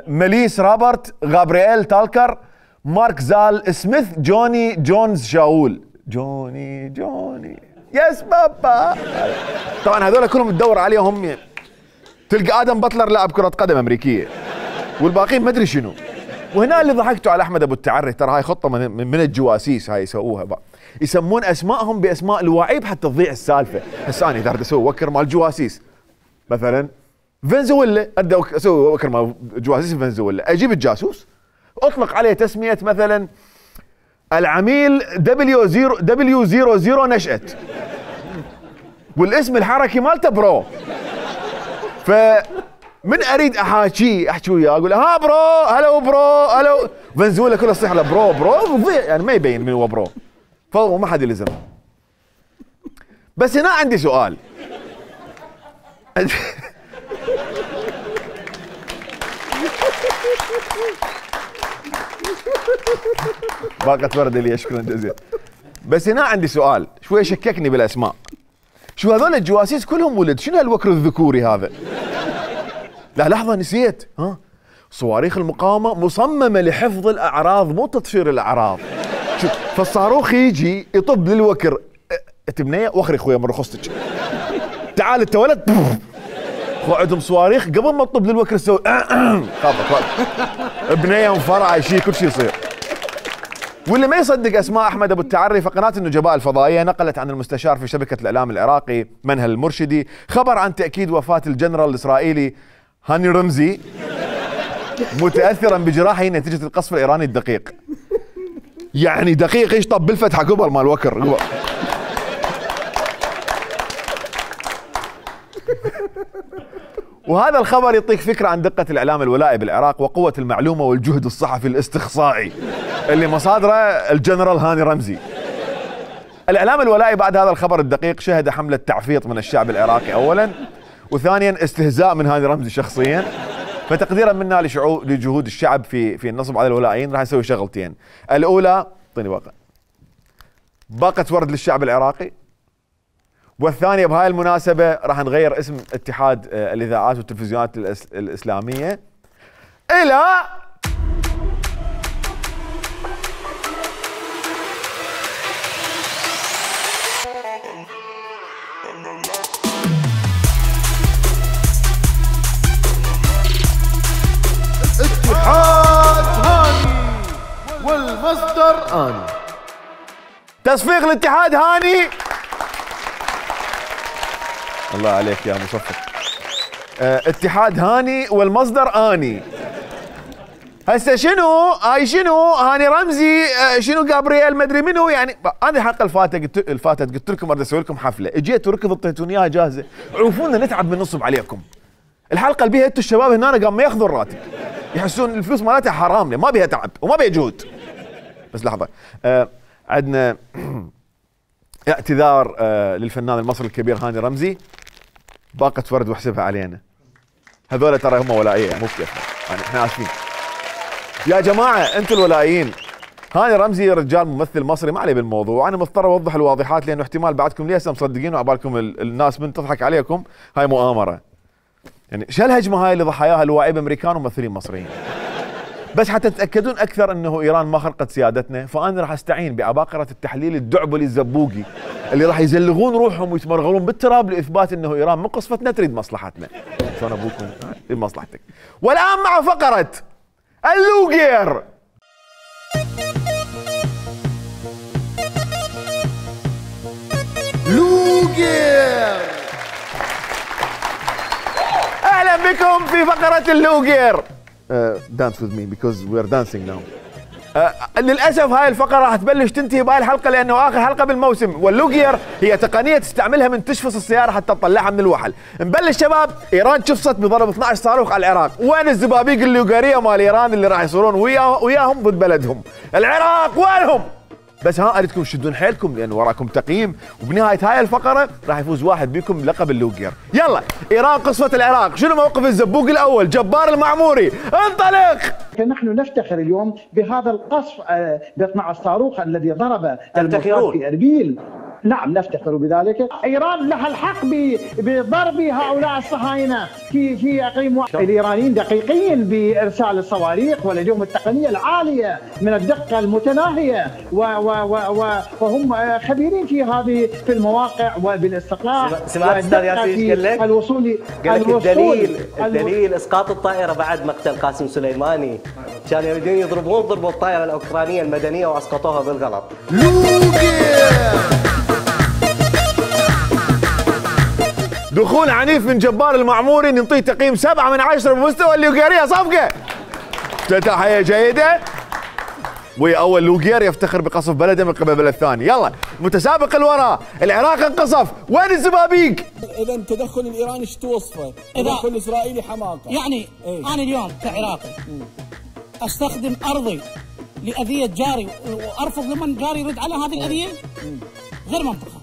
مليس رابرت، غابرييل تالكر، مارك زال سميث، جوني جونز شاول. جوني يس بابا. طبعا هذول كلهم تدور عليهم تلقى ادم باتلر لاعب كره قدم امريكيه والباقيين ما ادري شنو. وهنا اللي ضحكتوا على احمد ابو التعري، ترى هاي خطه من الجواسيس هاي يسووها بقى. يسمون اسمائهم باسماء الوعيب حتى تضيع السالفه. هسه انا اذا اسوي وكر مال جواسيس مثلا فنزويلا، ابدا اسوي وكر مال جواسيس فنزويلا، اجيب الجاسوس اطلق عليه تسميه مثلا العميل W00 نشأت والاسم الحركي مالته برو. فمن اريد احكي وياه اقول ها برو، هلو برو، هلو فنزويلا كله يصيح له برو يعني ما يبين من هو برو، فما حد يلزم. بس هنا عندي سؤال. باقة ورد لي، شكرا جزيلا. بس هنا عندي سؤال شوي شككني بالاسماء. شو هذول الجواسيس كلهم ولد؟ شنو هالوكر الذكوري هذا؟ لا لحظة نسيت، صواريخ المقاومة مصممة لحفظ الأعراض مو تطفير الأعراض. شوف فالصاروخ يجي يطب للوكر، تبنية وخري خويا من رخصتك، تعال انت ولد، عندهم صواريخ قبل ما تطب للوكر تسوي خافت بنية انفرع شيء كل شيء يصير. واللي ما يصدق اسماء احمد ابو التعري، فقناه النجباء الفضائيه نقلت عن المستشار في شبكه الاعلام العراقي منهل المرشدي خبر عن تاكيد وفاه الجنرال الاسرائيلي هاني رمزي متاثرا بجراحه نتيجه القصف الايراني الدقيق. يعني دقيق ايش طب بالفتحه قبل مال وكر قبل. وهذا الخبر يعطيك فكره عن دقه الاعلام الولائي بالعراق وقوه المعلومه والجهد الصحفي الاستقصائي اللي مصادره الجنرال هاني رمزي. الاعلام الولائي بعد هذا الخبر الدقيق شهد حمله تعفيط من الشعب العراقي اولا، وثانيا استهزاء من هاني رمزي شخصيا. فتقديرا منا لجهود الشعب في النصب على الولائيين راح نسوي شغلتين. الاولى اعطيني باقه ورد للشعب العراقي، والثانية بهاي المناسبة راح نغير اسم اتحاد الإذاعات والتلفزيونات الإسلامية إلى والمصدر آني. تصفيق الاتحاد هاني. الله عليك يا مصفق. اتحاد هاني والمصدر آني. هسه شنو هاي شنو هاني رمزي شنو جابرييل مدري منو يعني. انا الحلقه الفاتت قلت لكم اريد اسوي لكم حفله، اجيت وركض اعطيتوني اياها جاهزه، عرفونا نتعب من نصب عليكم. الحلقه اللي بيها انتم الشباب هنا قام ما ياخذون الراتب، يحسون الفلوس مالتها حرام، ما بيها تعب وما بيها جهد. بس لحظه عندنا اعتذار للفنان المصري الكبير هاني رمزي، باقة ورد واحسبها علينا. هذول ترى هم ولائيه مو بكيفنا، يعني احنا اسفين. يا جماعه انتم الولائيين، هاني رمزي رجال ممثل مصري ما عليه بالموضوع، انا مضطر اوضح الواضحات لانه احتمال بعدكم ليه مصدقين وعبالكم الناس من تضحك عليكم، هاي مؤامره. يعني شو الهجمه هاي اللي ضحاياها الواعي امريكان وممثلين مصريين؟ بس حتى تتاكدون اكثر انه ايران ما خرقت سيادتنا، فانا راح استعين بعباقره التحليل الدعبلي الزبوقي اللي راح يزلغون روحهم ويتمرغلون بالتراب لاثبات انه ايران من قصفتنا تريد مصلحتنا. شلون ابوكم لمصلحتك. والان مع فقره اللوغير. لوغير. اهلا بكم في فقره اللوغير. dance with me because we are dancing now. للاسف هاي الفقره راح تبلش تنتهي بهاي الحلقه لانه اخر حلقه بالموسم، واللوغير هي تقنيه تستعملها من تشفص السياره حتى تطلعها من الوحل. نبلش شباب. ايران شفصت بضرب 12 صاروخ على العراق، وين الزبابيق اللوغيريه مال ايران اللي راح يصيرون وياهم ضد بلدهم؟ العراق وينهم؟ بس ها اريدكم تشدون حيلكم لان وراكم تقييم، وبنهايه هاي الفقره راح يفوز واحد بكم بلقب اللوغير. يلا ايران قصفت العراق، شنو موقف الزبوق الاول جبار المعموري؟ انطلق. نحن نفتخر اليوم بهذا القصف ب 12 صاروخ الذي ضرب المرصاد في اربيل. نعم نفتخر بذلك. ايران لها الحق بضرب هؤلاء الصهاينه في اقليم. الايرانيين دقيقين بارسال الصواريخ ولديهم التقنيه العاليه من الدقه المتناهيه وهم خبيرين في المواقع وبالاستطلاع. سمعت استاذ ياسين قال لك؟ الوصول الدليل اسقاط الطائره بعد مقتل قاسم سليماني، كانوا يريدون ضربوا الطائره الاوكرانيه المدنيه واسقطوها بالغلط. دخول عنيف من جبار المعموري، نعطيه تقييم 7 من 10 بمستوى اللوغيريه. صفقه تحيه جيده. واول لوغير يفتخر بقصف بلده من قبل بلد ثاني. يلا متسابق الوراء، العراق انقصف، وين الزبابيق؟ اذا تدخل الايراني شو توصفه؟ تدخل الاسرائيلي حماقه. يعني انا اليوم كعراقي استخدم ارضي لاذيه جاري وارفض لمن جاري يرد على هذه الاذيه؟ غير منطقه.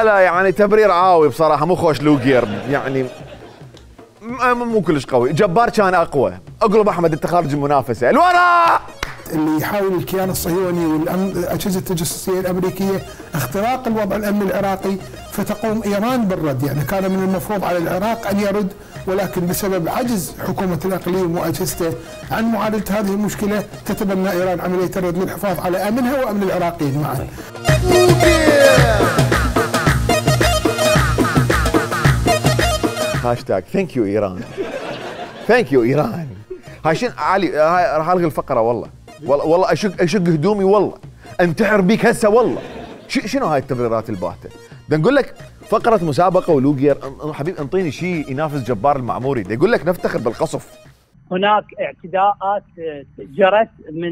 لا يعني تبرير عاوي بصراحه، مو خوش لوغير يعني مو كلش قوي. جبار كان اقوى. اقلب احمد انت خارج المنافسه. الوراء اللي يحاول الكيان الصهيوني والاجهزه التجسسيه الامريكيه اختراق الوضع الامني العراقي، فتقوم ايران بالرد. يعني كان من المفروض على العراق ان يرد، ولكن بسبب عجز حكومه الاقليم واجهزته عن معالجه هذه المشكله تتبنى ايران عمليه الرد للحفاظ على امنها وامن العراقيين معا. هاشتاج ثانك يو ايران. ثانك يو ايران. هاي شنو علي؟ هاي راح الغي الفقره والله. والله اشق هدومي والله. انتحر بيك هسه والله. شنو هاي التبريرات الباهته؟ بدنا نقول لك فقره مسابقه ولوغير. حبيب انطيني شيء ينافس جبار المعموري. بدي اقول لك نفتخر بالقصف. هناك اعتداءات جرت من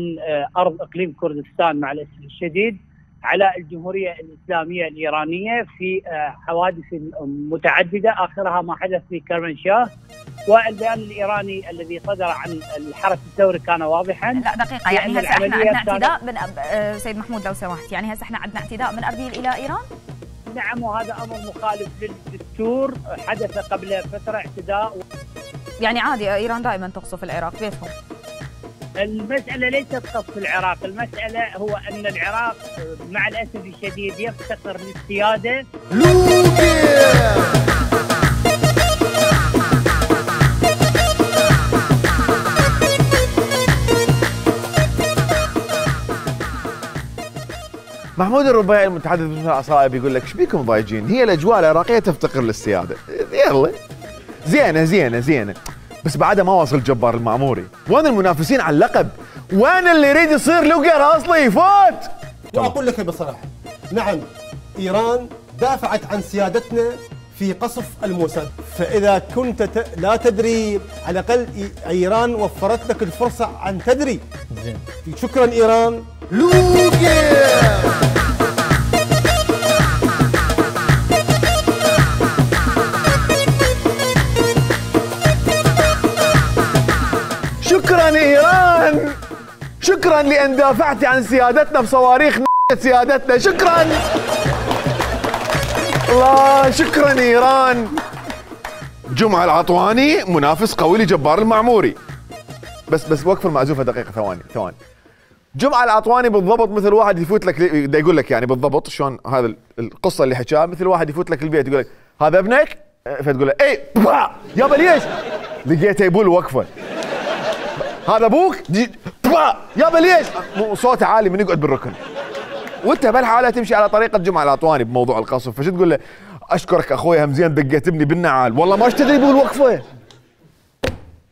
ارض اقليم كردستان مع الاسف الشديد على الجمهورية الإسلامية الإيرانية في حوادث متعددة، آخرها ما حدث في كرمانشاه. والبيان الإيراني الذي صدر عن الحرس الثوري كان واضحا. لا دقيقة، يعني هسه احنا عندنا اعتداء من سيد محمود لو سمحت، يعني هسه احنا عندنا اعتداء من أربيل إلى إيران؟ نعم، وهذا أمر مخالف للدستور. حدث قبل فترة اعتداء. يعني عادي إيران دائما تقصف العراق بيفهم. المسألة ليست قصف العراق، المسألة هو أن العراق مع الأسف الشديد يفتقر للسيادة. محمود الربيعي المتحدث باسم العصائب يقول لك ايش بيكم ضايجين؟ هي الاجواء العراقيه تفتقر للسياده. يلا زينه بس بعدها ما واصل جبار المعموري. وين المنافسين على اللقب؟ وين اللي يريد يصير لوجر اصلي يفوت؟ واقول لك بصراحه، نعم ايران دافعت عن سيادتنا في قصف الموساد، فاذا كنت لا تدري على الاقل ايران وفرت لك الفرصه ان تدري. زين، شكرا ايران. لوجر شكرا ايران، شكرا لان دافعتي عن سيادتنا بصواريخ سيادتنا، شكرا الله، شكرا ايران. جمعة العطواني منافس قوي لجبار المعموري. بس وقف المعزوفة دقيقة، ثواني. جمعة العطواني بالضبط مثل واحد يفوت لك، دا يقول لك يعني بالضبط شلون هذا القصة اللي حكاها، مثل واحد يفوت لك البيت يقول لك هذا ابنك؟ فتقول له اي يابا ليش؟ لقيته يبول وقفه. هذا ابوك؟ يابا ليش؟ صوته عالي من يقعد بالركن. وانت بهالحاله تمشي على طريقه جمعه العطواني بموضوع القصف، فشو تقول له؟ اشكرك اخوي همزين دقيت ابني بالنعال، والله ما تدري يبول وقفه.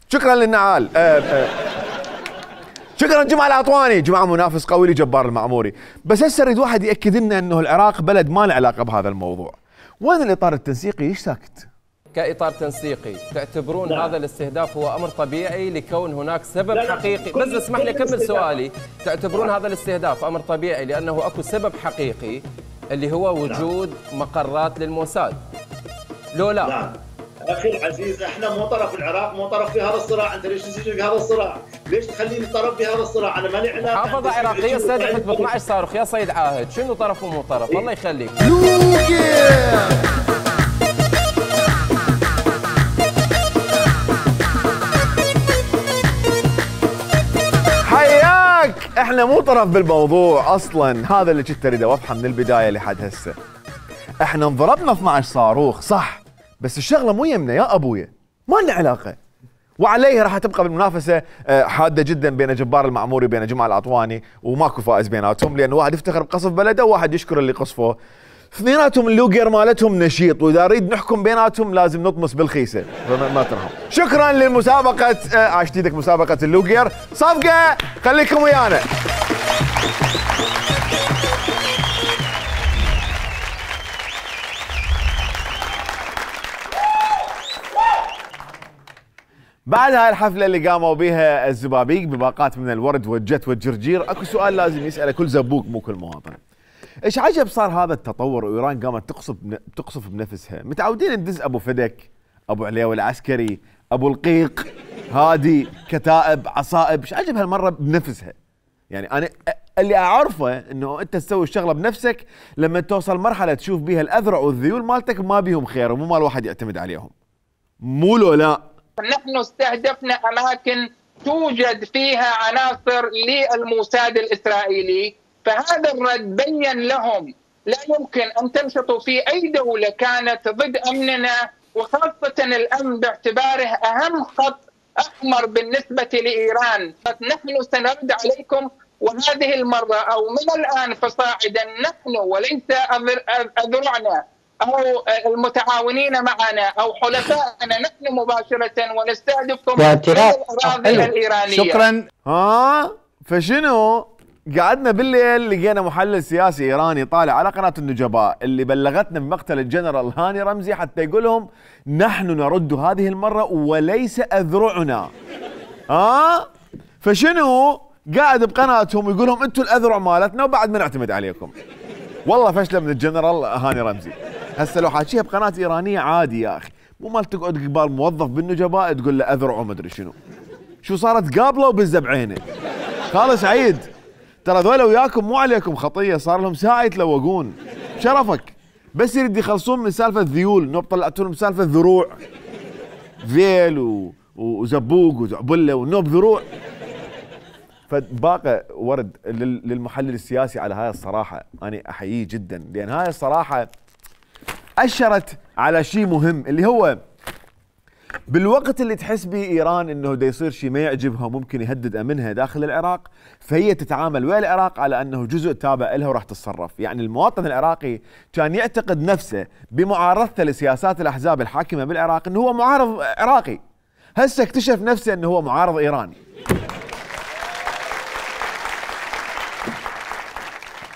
شكرا للنعال. شكرا جمعه العطواني، جماعه منافس قوي لجبار المعموري. بس هسه يريد واحد ياكد لنا انه العراق بلد ما له علاقه بهذا الموضوع. وين الاطار التنسيقي؟ ايش ساكت؟ كإطار تنسيقي تعتبرون هذا الاستهداف هو أمر طبيعي لكون هناك سبب حقيقي؟ بس اسمح لي أكمل سؤالي. تعتبرون هذا الاستهداف أمر طبيعي لأنه أكو سبب حقيقي اللي هو وجود مقرات للموساد؟ لو لا؟ نعم أخي العزيز، احنا مو طرف العراق، مو طرف في هذا الصراع. أنت ليش تسجل في هذا الصراع؟ ليش تخليني طرف في هذا الصراع؟ أنا مالي علاقة. محافظة عراقية استهدفت ب 12 صاروخ يا سيد عاهد، شنو طرف ومو طرف؟ الله يخليك. احنا مو طرف بالموضوع اصلا، هذا اللي كنت اريد اوضحه من البدايه لحد هسه. احنا انضربنا 12 صاروخ صح، بس الشغله مو يمنا يا ابويا، ما لنا علاقه. وعليه راح تبقى بالمنافسه حاده جدا بين جبار المعموري وبين جمعه العطواني، وماكو فائز بيناتهم، لان واحد يفتخر بقصف بلده وواحد يشكر اللي قصفه. اثنيناتهم اللوجر مالتهم نشيط، واذا نريد نحكم بيناتهم لازم نطمس بالخيسه، فما ترهم. شكرا للمسابقه عاش جديدك مسابقه اللوجر، صفقه خليكم ويانا. بعد هاي الحفله اللي قاموا بها الزبابيك بباقات من الورد والجت والجرجير، اكو سؤال لازم يساله كل زبوق مو كل مواطن. ايش عجب صار هذا التطور وايران قامت تقصف بنفسها؟ متعودين ندز ابو فدك، ابو عليوي العسكري، ابو القيق، هادي، كتائب، عصائب، ايش عجب هالمره بنفسها؟ يعني انا اللي اعرفه انه انت تسوي الشغله بنفسك لما توصل مرحله تشوف بيها الاذرع والذيول مالتك ما بيهم خير ومو مال واحد يعتمد عليهم. مو لو لا. نحن استهدفنا اماكن توجد فيها عناصر للموساد الاسرائيلي، فهذا الرد بين لهم لا يمكن أن تنشطوا في أي دولة كانت ضد أمننا، وخاصة الأمن باعتباره أهم خط أحمر بالنسبة لإيران. نحن سنرد عليكم، وهذه المرة أو من الآن فصاعدا نحن وليس أذرعنا أو المتعاونين معنا أو حلفائنا، نحن مباشرة ونستهدفكم من الأراضي الإيرانية. شكرا. فشنو؟ قعدنا بالليل لقينا محلل سياسي ايراني طالع على قناه النجباء اللي بلغتنا بمقتل الجنرال هاني رمزي حتى يقول لهم نحن نرد هذه المره وليس اذرعنا. فشنو؟ قاعد بقناتهم ويقول لهم انتم الاذرع مالتنا وبعد ما نعتمد عليكم. والله فشله من الجنرال هاني رمزي. هسه لو حاكيها بقناه ايرانيه عادي يا اخي، مو مال تقعد قبال موظف بالنجباء تقول له اذرع وما ادري شنو. شو صارت قابله وبزه بعينه. خالص عيد، ترى ذولا وياكم مو عليكم خطيه، صار لهم ساعه يتلوقون شرفك، بس يريد يخلصون من سالفه ذيول، نوب طلعتوا لهم سالفه ذروع، ذيل وزبوق وزعبله ونوب ذروع. فباقي ورد للمحلل السياسي على هاي الصراحه، انا احييه جدا، لان هاي الصراحه اشرت على شيء مهم اللي هو بالوقت اللي تحس به ايران انه دا يصير شيء ما يعجبها ممكن يهدد امنها داخل العراق، فهي تتعامل ويا العراق على انه جزء تابع لها وراح تتصرف. يعني المواطن العراقي كان يعتقد نفسه بمعارضته لسياسات الاحزاب الحاكمه بالعراق انه هو معارض عراقي، هسه اكتشف نفسه انه هو معارض ايراني.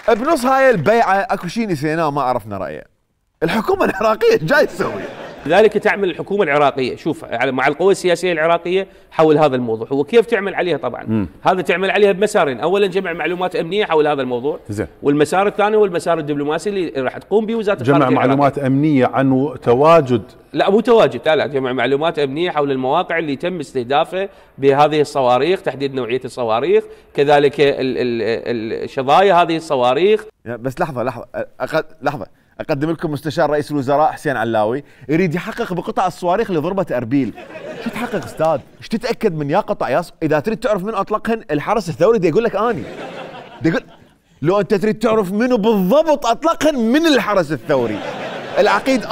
بنص هاي البيعه اكو شيء نسيناه ما عرفنا رايه. الحكومه العراقيه ايش جاي تسوي؟ لذلك تعمل الحكومة العراقية، شوف مع القوى السياسية العراقية حول هذا الموضوع، وكيف تعمل عليها طبعا. هذا تعمل عليها بمسارين، اولا جمع معلومات امنية حول هذا الموضوع، زين. والمسار الثاني هو المسار الدبلوماسي اللي راح تقوم به وزارة الخارجية. جمع معلومات امنية عن تواجد، لا مو تواجد، لا جمع معلومات امنية حول المواقع اللي تم استهدافها بهذه الصواريخ، تحديد نوعية الصواريخ، كذلك الشظايا هذه الصواريخ. بس لحظة أقدم لكم مستشار رئيس الوزراء حسين علاوي يريد يحقق بقطع الصواريخ اللي ضربت أربيل. شو تحقق أستاذ؟ ايش تتأكد من يا قطع إذا تريد تعرف من أطلقهن الحرس الثوري دي يقول لك أني. يقول لو أنت تريد تعرف منو بالضبط أطلقهن من الحرس الثوري. العقيد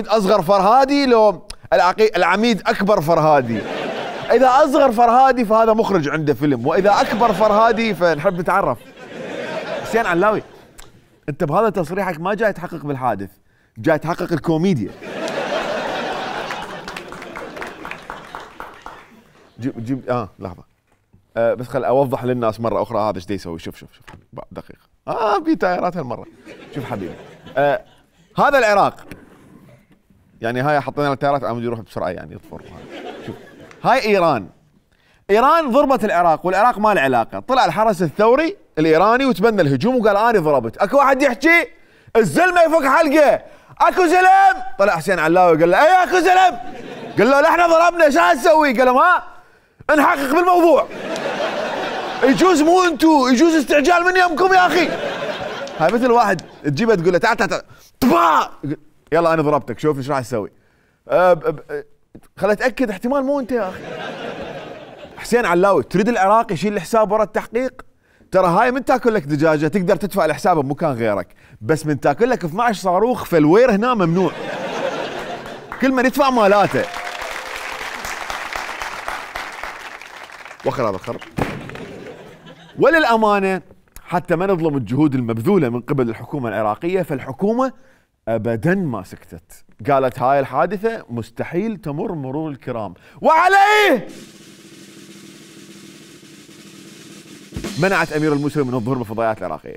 أصغر فرهادي لو العميد أكبر فرهادي. إذا أصغر فرهادي فهذا مخرج عنده فيلم، وإذا أكبر فرهادي فنحب نتعرف. حسين علاوي انت بهذا تصريحك ما جاي تحقق بالحادث، جاي تحقق الكوميديا. جيب لحظة بس خل اوضح للناس مرة اخرى هذا ايش يسوي. شوف دقيقة في تايرات هالمرة. شوف حبيبي هذا العراق، يعني هاي حطينا التايرات عم يروح بسرعة يعني يطفر. شوف هاي ايران ضربت العراق، والعراق ما له علاقة. طلع الحرس الثوري الايراني وتبنى الهجوم وقال انا ضربت. اكو واحد يحكي الزلمه يفك حلقه، اكو زلم. طلع حسين علاوي قال له اي اكو زلم، قال له احنا ضربنا شو هتسوي؟ قال له ما نحقق بالموضوع، يجوز مو انتو، يجوز استعجال من يمكم يا اخي. هاي مثل واحد تجيبه تقول له تعال يلا انا ضربتك شوف ايش راح تسوي. خل اتاكد احتمال مو انت يا اخي. حسين علاوي تريد العراق يشيل الحساب ورا التحقيق؟ ترى هاي من تاكل لك دجاجه تقدر تدفع الحساب بمكان غيرك، بس من تاكل لك 12 صاروخ فالوير هنا ممنوع. كل من يدفع مالاته. وخر هذا الخرب. وللامانه حتى ما نظلم الجهود المبذوله من قبل الحكومه العراقيه، فالحكومه ابدا ما سكتت، قالت هاي الحادثه مستحيل تمر مرور الكرام، وعليه منعت امير الموسوي من الظهور بالفضائيات العراقيه.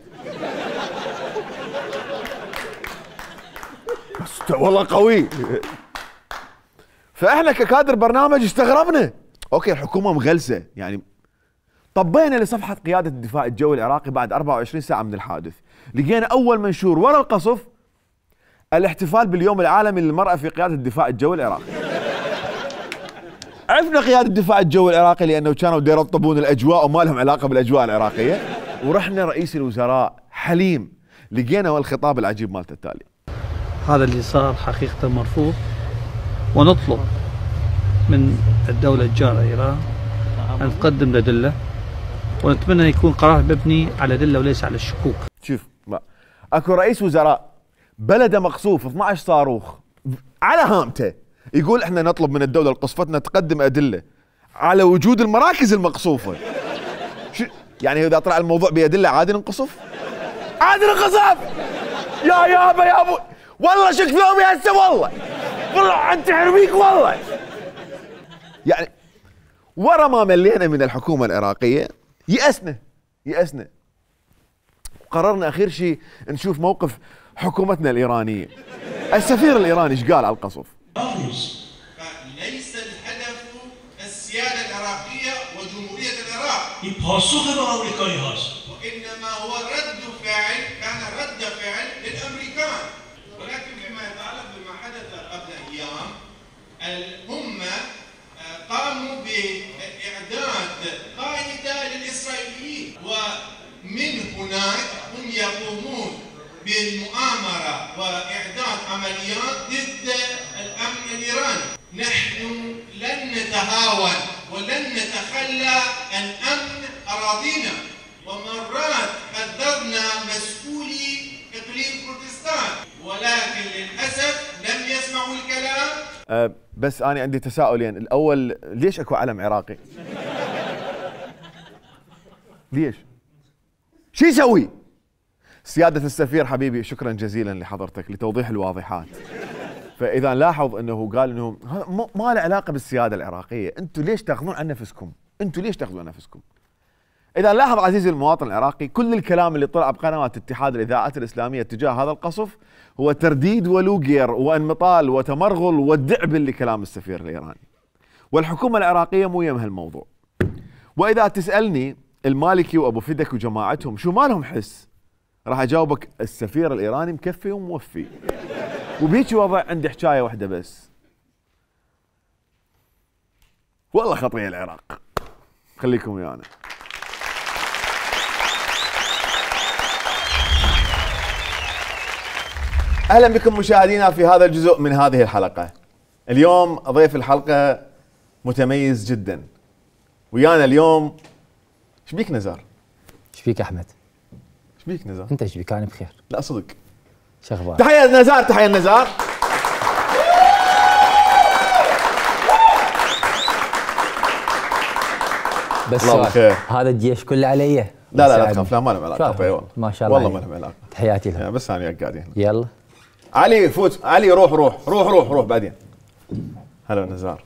بس والله قوي. فاحنا ككادر برنامج استغربنا، اوكي الحكومه مغلسه يعني. طبينا لصفحه قياده الدفاع الجوي العراقي بعد 24 ساعه من الحادث، لقينا اول منشور ورا القصف الاحتفال باليوم العالمي للمراه في قياده الدفاع الجوي العراقي. عرفنا قيادة الدفاع الجوي العراقي لأنه كانوا يرطبون الأجواء وما لهم علاقة بالأجواء العراقية، ورحنا رئيس الوزراء حليم لقينا والخطاب العجيب مالته التالي: هذا اللي صار حقيقة مرفوض، ونطلب من الدولة الجارة إيران أن تقدم أدلة، ونتمنى أن يكون قرار مبني على أدلة وليس على الشكوك. شوف أكو رئيس وزراء بلده مقصوف 12 صاروخ على هامته يقول احنا نطلب من الدولة القصفتنا تقدم أدلة على وجود المراكز المقصوفة. يعني إذا طلع الموضوع بأدلة عادي ننقصف؟ عادي ننقصف؟ يا ابو والله شك فيهم يا هسه، والله انت حرميك والله. يعني ورا ما ملينا من الحكومة العراقية يأسنا. قررنا اخير شيء نشوف موقف حكومتنا الإيرانية. السفير الإيراني ايش قال على القصف؟ ليس الهدف السيادة العراقية وجمهورية العراق، وإنما هو كان رد فعل للأمريكان. ولكن فيما يتعلق بما حدث قبل أيام، هم قاموا بإعداد قاعدة للإسرائيليين، ومن هناك هم يقومون بالمؤامرة وإعداد عمليات ضد الأمن الإيراني. نحن لن نتهاون ولن نتخلى عن أمن أراضينا، ومرات حذرنا مسؤولي إقليم كردستان، ولكن للأسف لم يسمعوا الكلام. بس انا عندي تساؤلين، الاول ليش اكو علم عراقي؟ ليش؟ شو يسوي؟ سيادة السفير حبيبي شكرا جزيلا لحضرتك لتوضيح الواضحات. فاذا لاحظ انه قال انه ما له علاقه بالسياده العراقيه، انتم ليش تاخذون عن نفسكم؟ انتم ليش تاخذون عن نفسكم؟ اذا لاحظ عزيزي المواطن العراقي، كل الكلام اللي طلع بقنوات اتحاد الاذاعات الاسلاميه تجاه هذا القصف هو ترديد ولوجير وانمطال وتمرغل والدعبل لكلام السفير الايراني. والحكومه العراقيه مو يم هالموضوع. واذا تسالني المالكي وابو فدك وجماعتهم شو مالهم حس؟ راح اجاوبك السفير الايراني مكفي وموفي. وبهيك وضع عندي حكايه واحده بس. والله خطيه العراق. خليكم ويانا. اهلا بكم مشاهدينا في هذا الجزء من هذه الحلقه. اليوم ضيف الحلقه متميز جدا. ويانا اليوم ايش بيك نزار؟ ايش بيك احمد؟ ايش بيك نزار؟ انت ايش بيك؟ انا بخير. لا صدق. شو اخبارك؟ تحيه نزار، تحيه نزار. بس الله بالخير. هذا الجيش كله علي. لا تخاف، لا ما لهم علاقه والله. ما شاء الله والله ما لهم علاقه. تحياتي لهم. بس انا وياك قاعدين. يلا علي فوت، علي روح بعدين. هلا نزار.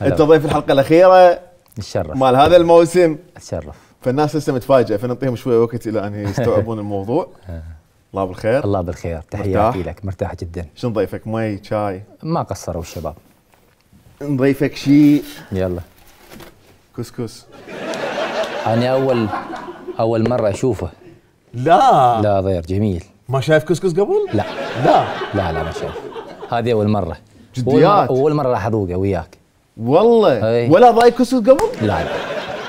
انت ضيف الحلقه الاخيره. نتشرف. مال هذا الموسم. اتشرف. فالناس لسه متفاجئه، فنعطيهم شويه وقت الى ان يستوعبون الموضوع. الله بالخير. الله بالخير، تحياتي لك. مرتاح جدا. شو نضيفك؟ مي، شاي؟ ما قصروا الشباب. نضيفك شيء. يلا. كسكس. انا اول مره اشوفه. لا غير جميل. ما شايف كسكس قبل؟ لا ما شايف. هذه اول مره. جديات. اول مره راح اذوقه وياك. والله. أي. ولا ضايق كسكس قبل؟ لا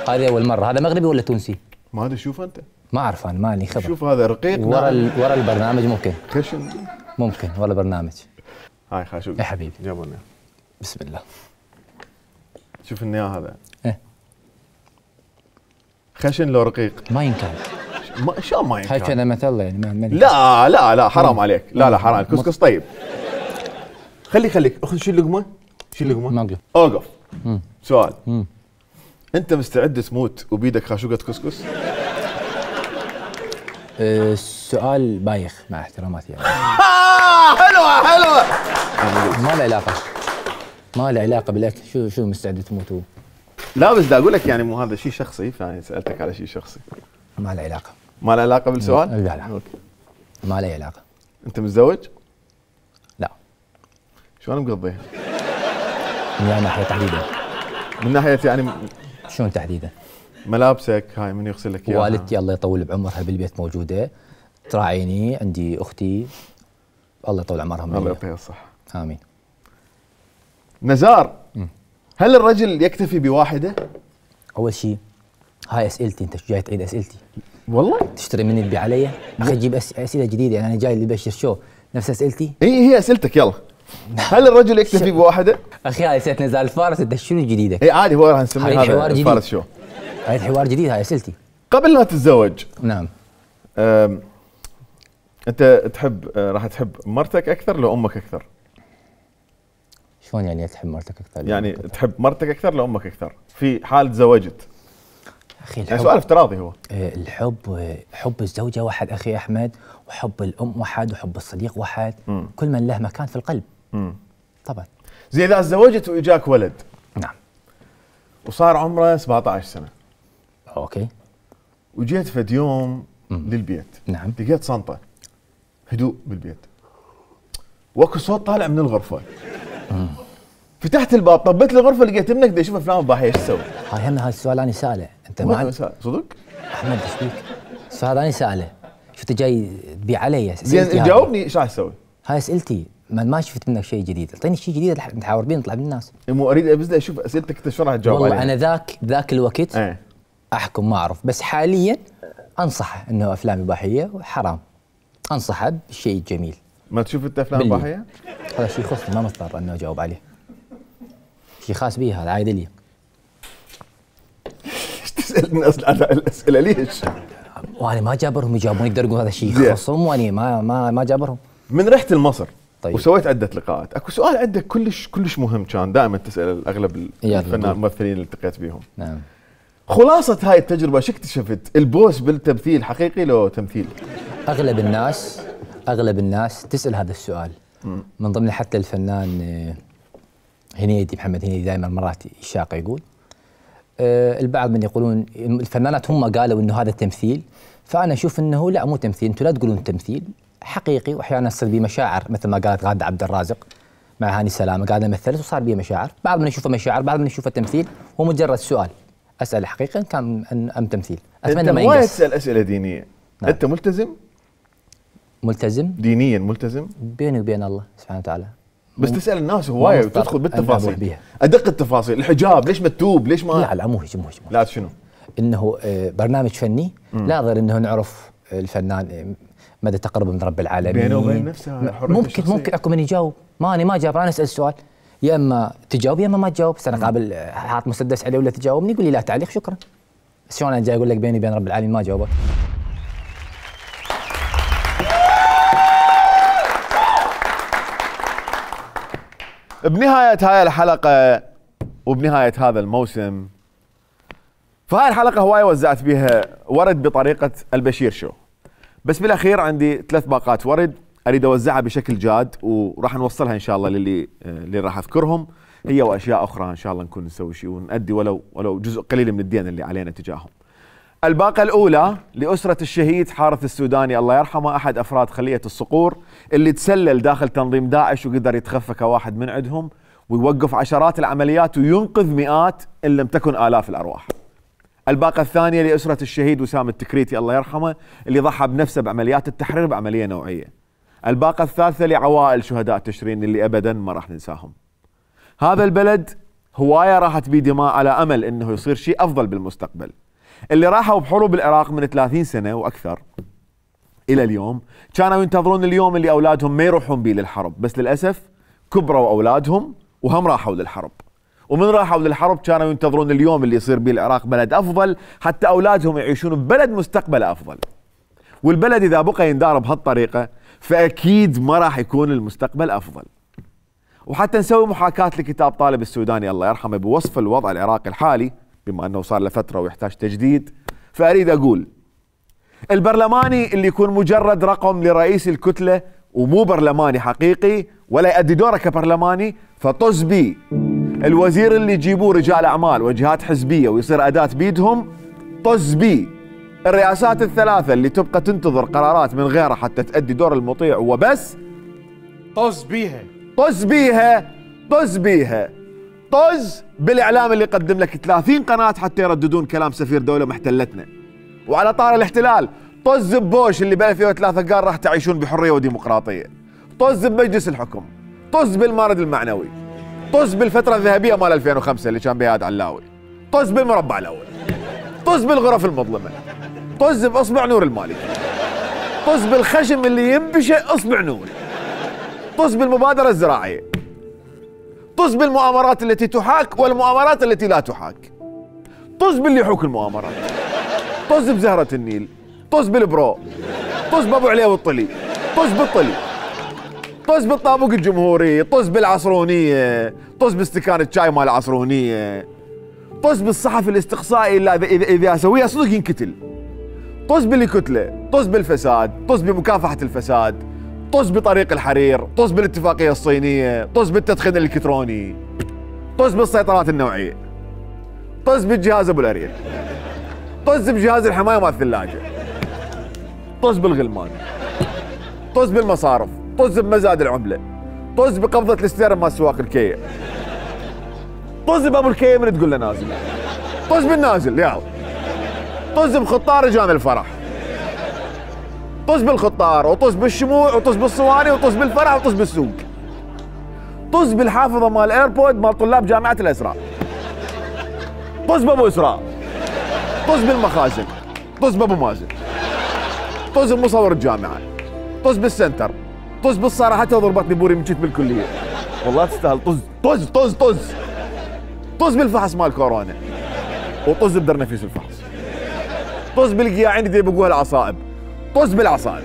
هذه اول مره. هذا مغربي ولا تونسي؟ ما ادري. شوف انت. ما اعرف انا، مالي خبر. شوف هذا رقيق. ورا البرنامج ممكن. خشن. ممكن ورا البرنامج. هاي خاشوق. يا حبيبي. جابوا لنا. بسم الله. شوف النياه هذا. ايه. خشن لو رقيق. ما ينكر. شلون ما ينكر؟ خشن مثل يعني ما لا حرام عليك. لا حرام. الكسكس طيب. خليك اخذ شيل لقمه. ما اقدر. اوقف. سؤال. انت مستعد تموت وبيدك خاشوقه كسكس؟ السؤال بايخ مع احتراماتي يعني. حلوه. ما له علاقه بالاكل. شو مستعد تموت؟ لا بس دا اقول لك يعني مو هذا شيء شخصي، فانا سالتك على شيء شخصي. ما له علاقه. ما له علاقه بالسؤال؟ لا أوكي. ما له علاقه. انت متزوج؟ لا. شلون مقضيها؟ من ناحيه تحديدا. من ناحيه يعني شلون تحديدا؟ ملابسك هاي من يغسل لك اياها؟ والدتي الله يطول بعمرها بالبيت موجوده تراعيني، عندي اختي الله يطول عمرهم. الله يعطيها الصحه. امين. نزار، هل الرجل يكتفي بواحده؟ اول شيء هاي اسئلتي، انت شو جاي تعيد اسئلتي؟ والله تشتري مني تبيع علي؟ اخي جيب اسئله جديده، يعني انا جاي اللي بشر شو نفس اسئلتي؟ هي اسئلتك. يلا هل الرجل يكتفي بواحده؟ اخي هاي اسئله نزار الفارس، انت شنو جديدك؟ اي عادي، هو راح نسميه هذا الفارس شو. هاي حوار جديد. هاي اسئلتي قبل لا تتزوج. نعم. انت تحب راح تحب مرتك اكثر لو امك اكثر؟ شلون يعني تحب مرتك اكثر؟ يعني تحب مرتك اكثر لو امك اكثر في حال تزوجت؟ اخي يعني سؤال افتراضي هو. حب الزوجه واحد اخي احمد، وحب الام واحد، وحب الصديق واحد. كل من له مكان في القلب. طبعا. زي اذا تزوجت واجاك ولد. نعم. وصار عمره 17 سنه. اوكي. وجيت فد يوم للبيت. نعم. لقيت صنطه هدوء بالبيت، واكو صوت طالع من الغرفه. فتحت الباب، طبيت الغرفه، لقيت ابنك دا يشوف افلام اباحيه. ايش تسوي؟ هاي هم هذا السؤال انا ساله. انت ما صدق؟ احمد ايش فيك؟ السؤال انا ساله. شفت جاي تبيع علي؟ زين جاوبني ايش راح تسوي؟ هاي اسئلتي، ما شفت منك شيء جديد، اعطيني شيء جديد نحاور بيه نطلع بالناس. مو اريد بس اشوف اسئلتك انت شو راح تجاوب عليها. والله انا ذاك الوقت احكم ما اعرف، بس حاليا انصحه انه افلام اباحيه وحرام. انصحه بالشيء الجميل. ما تشوف انت افلام اباحيه؟ هذا شيء يخصني، ما مضطر انه اجاوب عليه. شيء خاص بي، هذا عايد لي. ايش تسالني اصلا على الاسئله ليش؟ وانا ما جابرهم يجاوبون، يقدروا يقولوا هذا شيء يخصهم، وانا ما جابرهم. من رحت لمصر طيب. وسويت عده لقاءات. اكو سؤال عندك كلش مهم، كان دائما تسال اغلب الفنانين الممثلين اللي التقيت بيهم. نعم. خلاصه هاي التجربه شو اكتشفت؟ البوس بالتمثيل حقيقي لو تمثيل؟ اغلب الناس تسال هذا السؤال. من ضمن حتى الفنان هنيدي، محمد هنيدي دائما مرات يشاق يقول البعض من يقولون الفنانات هم قالوا انه هذا تمثيل، فانا اشوف انه لا مو تمثيل، انتم لا تقولون تمثيل حقيقي، واحيانا تصير بيه مشاعر مثل ما قالت غادة عبد الرازق مع هاني سلامه، قاعده مثلت وصار بيه مشاعر، بعض من يشوفه مشاعر، بعض من يشوفه تمثيل، هو مجرد سؤال اسال حقيقه كان ام تمثيل. اتمنى ما ينقص. تسال اسئله دينيه. نعم. انت ملتزم دينيا، ملتزم بيني وبين الله سبحانه وتعالى، بس تسال الناس هوايه وتدخل بالتفاصيل ادق التفاصيل. الحجاب ليش مكتوب؟ ليش ما لا مو هيك لا شنو؟ انه برنامج فني لا غير انه نعرف الفنان مدى تقربه من رب العالمين بينه وبين نفسه. ممكن اكو من يجاوب، ما جاوب، انا اسال السؤال يا اما تجاوب يا اما ما تجاوب. بس انا قابل حاط مسدس عليه ولا تجاوبني يقول لي لا تعليق شكرا. بس شلون انا جاي اقول لك بيني وبين رب العالمين ما جاوبك؟ بنهاية هاي الحلقة وبنهاية هذا الموسم، فهاي الحلقة هواية وزعت بيها ورد بطريقة البشير شو، بس بالاخير عندي 3 باقات ورد اريد اوزعها بشكل جاد، وراح نوصلها ان شاء الله اللي راح اذكرهم، هي واشياء اخرى ان شاء الله نكون نسوي شيء ونؤدي ولو جزء قليل من الدين اللي علينا تجاههم. الباقة الأولى لأسرة الشهيد حارث السوداني الله يرحمه، أحد أفراد خلية الصقور اللي تسلل داخل تنظيم داعش وقدر يتخفى كواحد من عندهم ويوقف عشرات العمليات وينقذ مئات إن لم تكن آلاف الأرواح. الباقة الثانية لأسرة الشهيد وسام التكريتي الله يرحمه اللي ضحى بنفسه بعمليات التحرير بعملية نوعية. الباقة الثالثة لعوائل شهداء تشرين اللي أبدا ما راح ننساهم. هذا البلد هواية راحت بيه دماء على أمل إنه يصير شيء أفضل بالمستقبل. اللي راحوا بحروب العراق من 30 سنة وأكثر إلى اليوم كانوا ينتظرون اليوم اللي أولادهم ما يروحون بيه للحرب، بس للأسف كبروا أولادهم وهم راحوا للحرب، ومن راحوا للحرب كانوا ينتظرون اليوم اللي يصير بيه العراق بلد أفضل حتى أولادهم يعيشون ببلد مستقبل أفضل. والبلد إذا بقى يندار بهالطريقة فأكيد ما راح يكون المستقبل أفضل. وحتى نسوي محاكاة لكتاب طالب السوداني الله يرحمه بوصف الوضع العراقي الحالي بما أنه صار له فترة ويحتاج تجديد، فأريد أقول البرلماني اللي يكون مجرد رقم لرئيس الكتلة ومو برلماني حقيقي ولا يؤدي دوره كبرلماني فطز بيه. الوزير اللي يجيبوه رجال أعمال وجهات حزبية ويصير أداة بيدهم طز بيه. الرئاسات الثلاثة اللي تبقى تنتظر قرارات من غيرها حتى تؤدي دور المطيع وبس طز بيها طز بيها طز بيها. طز بالاعلام اللي يقدم لك 30 قناه حتى يرددون كلام سفير دوله محتلتنا. وعلى طار الاحتلال طز ببوش اللي ب 2003 قال راح تعيشون بحريه وديمقراطيه. طز بمجلس الحكم، طز بالمارد المعنوي، طز بالفتره الذهبيه مال 2005 اللي كان بها هاد علاوي، طز بالمربع الاول، طز بالغرف المظلمه، طز باصبع نور المالكي، طز بالخشم اللي ينبشه اصبع نور، طز بالمبادره الزراعيه، طز بالمؤامرات التي تحاك والمؤامرات التي لا تحاك، طز باللي يحوك المؤامرات، طز بزهرة النيل، طز بالبرو، طز بابو عليه والطلي، طز بالطلي، طز بالطابوق الجمهوري، طز بالعصرونية، طز باستكان الشاي مال العصرونية، طز بالصحفي الاستقصائي اللي إذا سويها صدق ينكتل، طز بالكتلة، طز بالفساد، طز بمكافحة الفساد، طز بطريق الحرير، طز بالاتفاقية الصينية، طز بالتدخين الإلكتروني، طز بالسيطرات النوعية، طز بالجهاز أبو الأريل، طز بجهاز الحماية مال الثلاجة، طز بالغلمان، طز بالمصارف، طز بمزاد العملة، طز بقبضة الاستيراد مال سواق الكية، طز بأبو الكية من تقول له نازل، طز بالنازل ياو، طز بخطار رجال الفرح، طز بالخطار وطز بالشموع وطز بالصواني وطز بالفرح وطز بالسوق، طز بالحافظة مال ايربود مال طلاب جامعة الأسراء، طز بأبو إسراء، طز بالمخازن، طز بأبو مازن، طز بمصور الجامعة، طز بالسنتر، طز بالصراحة ضربتني بوري من جيت بالكلية والله تستاهل. طز طز طز طز طز بالفحص مال كورونا وطز بدر نفيس الفحص، طز بالقياعين اللي بقوها العصائب، طز بالعصائب،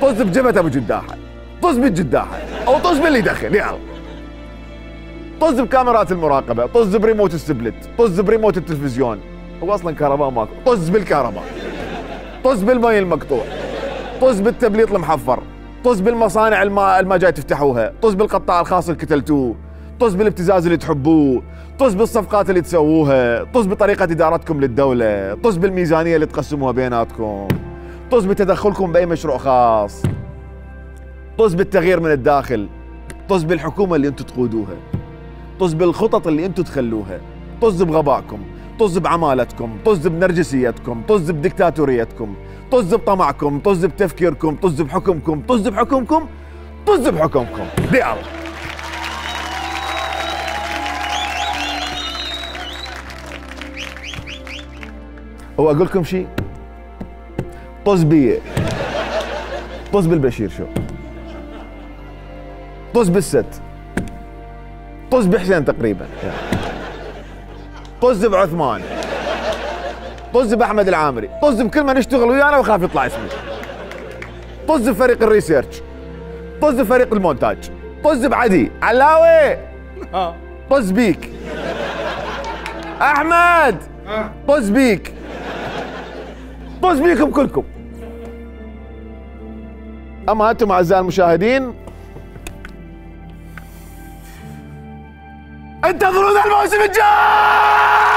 طز بجبهة ابو جداحة، طز بالجداحة، او طز باللي يدخن يلا. طز بكاميرات المراقبه، طز بريموت السبلت، طز بريموت التلفزيون، هو اصلا كهرباء ماكو، طز بالكهرباء، طز بالمي المقطوع، طز بالتبليط المحفر، طز بالمصانع الما جاي تفتحوها، طز بالقطاع الخاص اللي كتلتوه، طز بالابتزاز اللي تحبوه، طز بالصفقات اللي تسووها، طز بطريقه ادارتكم للدوله، طز بالميزانيه اللي تقسموها بيناتكم، طز بتدخلكم باي مشروع خاص، طز بالتغيير من الداخل، طز بالحكومه اللي انتم تقودوها، طز بالخطط اللي انتم تخلوها، طز بغبائكم، طز بعمالتكم، طز بنرجسيتكم، طز بديكتاتوريتكم، طز بطمعكم، طز بتفكيركم، طز بحكمكم، طز بحكمكم، طز بحكمكم. دي الله. واقول لكم شيء، طز بي، طز بالبشير شو، طز بالست، طز بحسين تقريبا، طز بعثمان، طز باحمد العامري، طز بكل ما نشتغل ويانا وخاف يطلع اسمي، طز بفريق الريسيرش، طز بفريق المونتاج، طز بعدي علاوي، طز بيك احمد، طز بيك، طز بيكم كلكم. اما انتم اعزائي المشاهدين انتظرونا الموسم الجاي.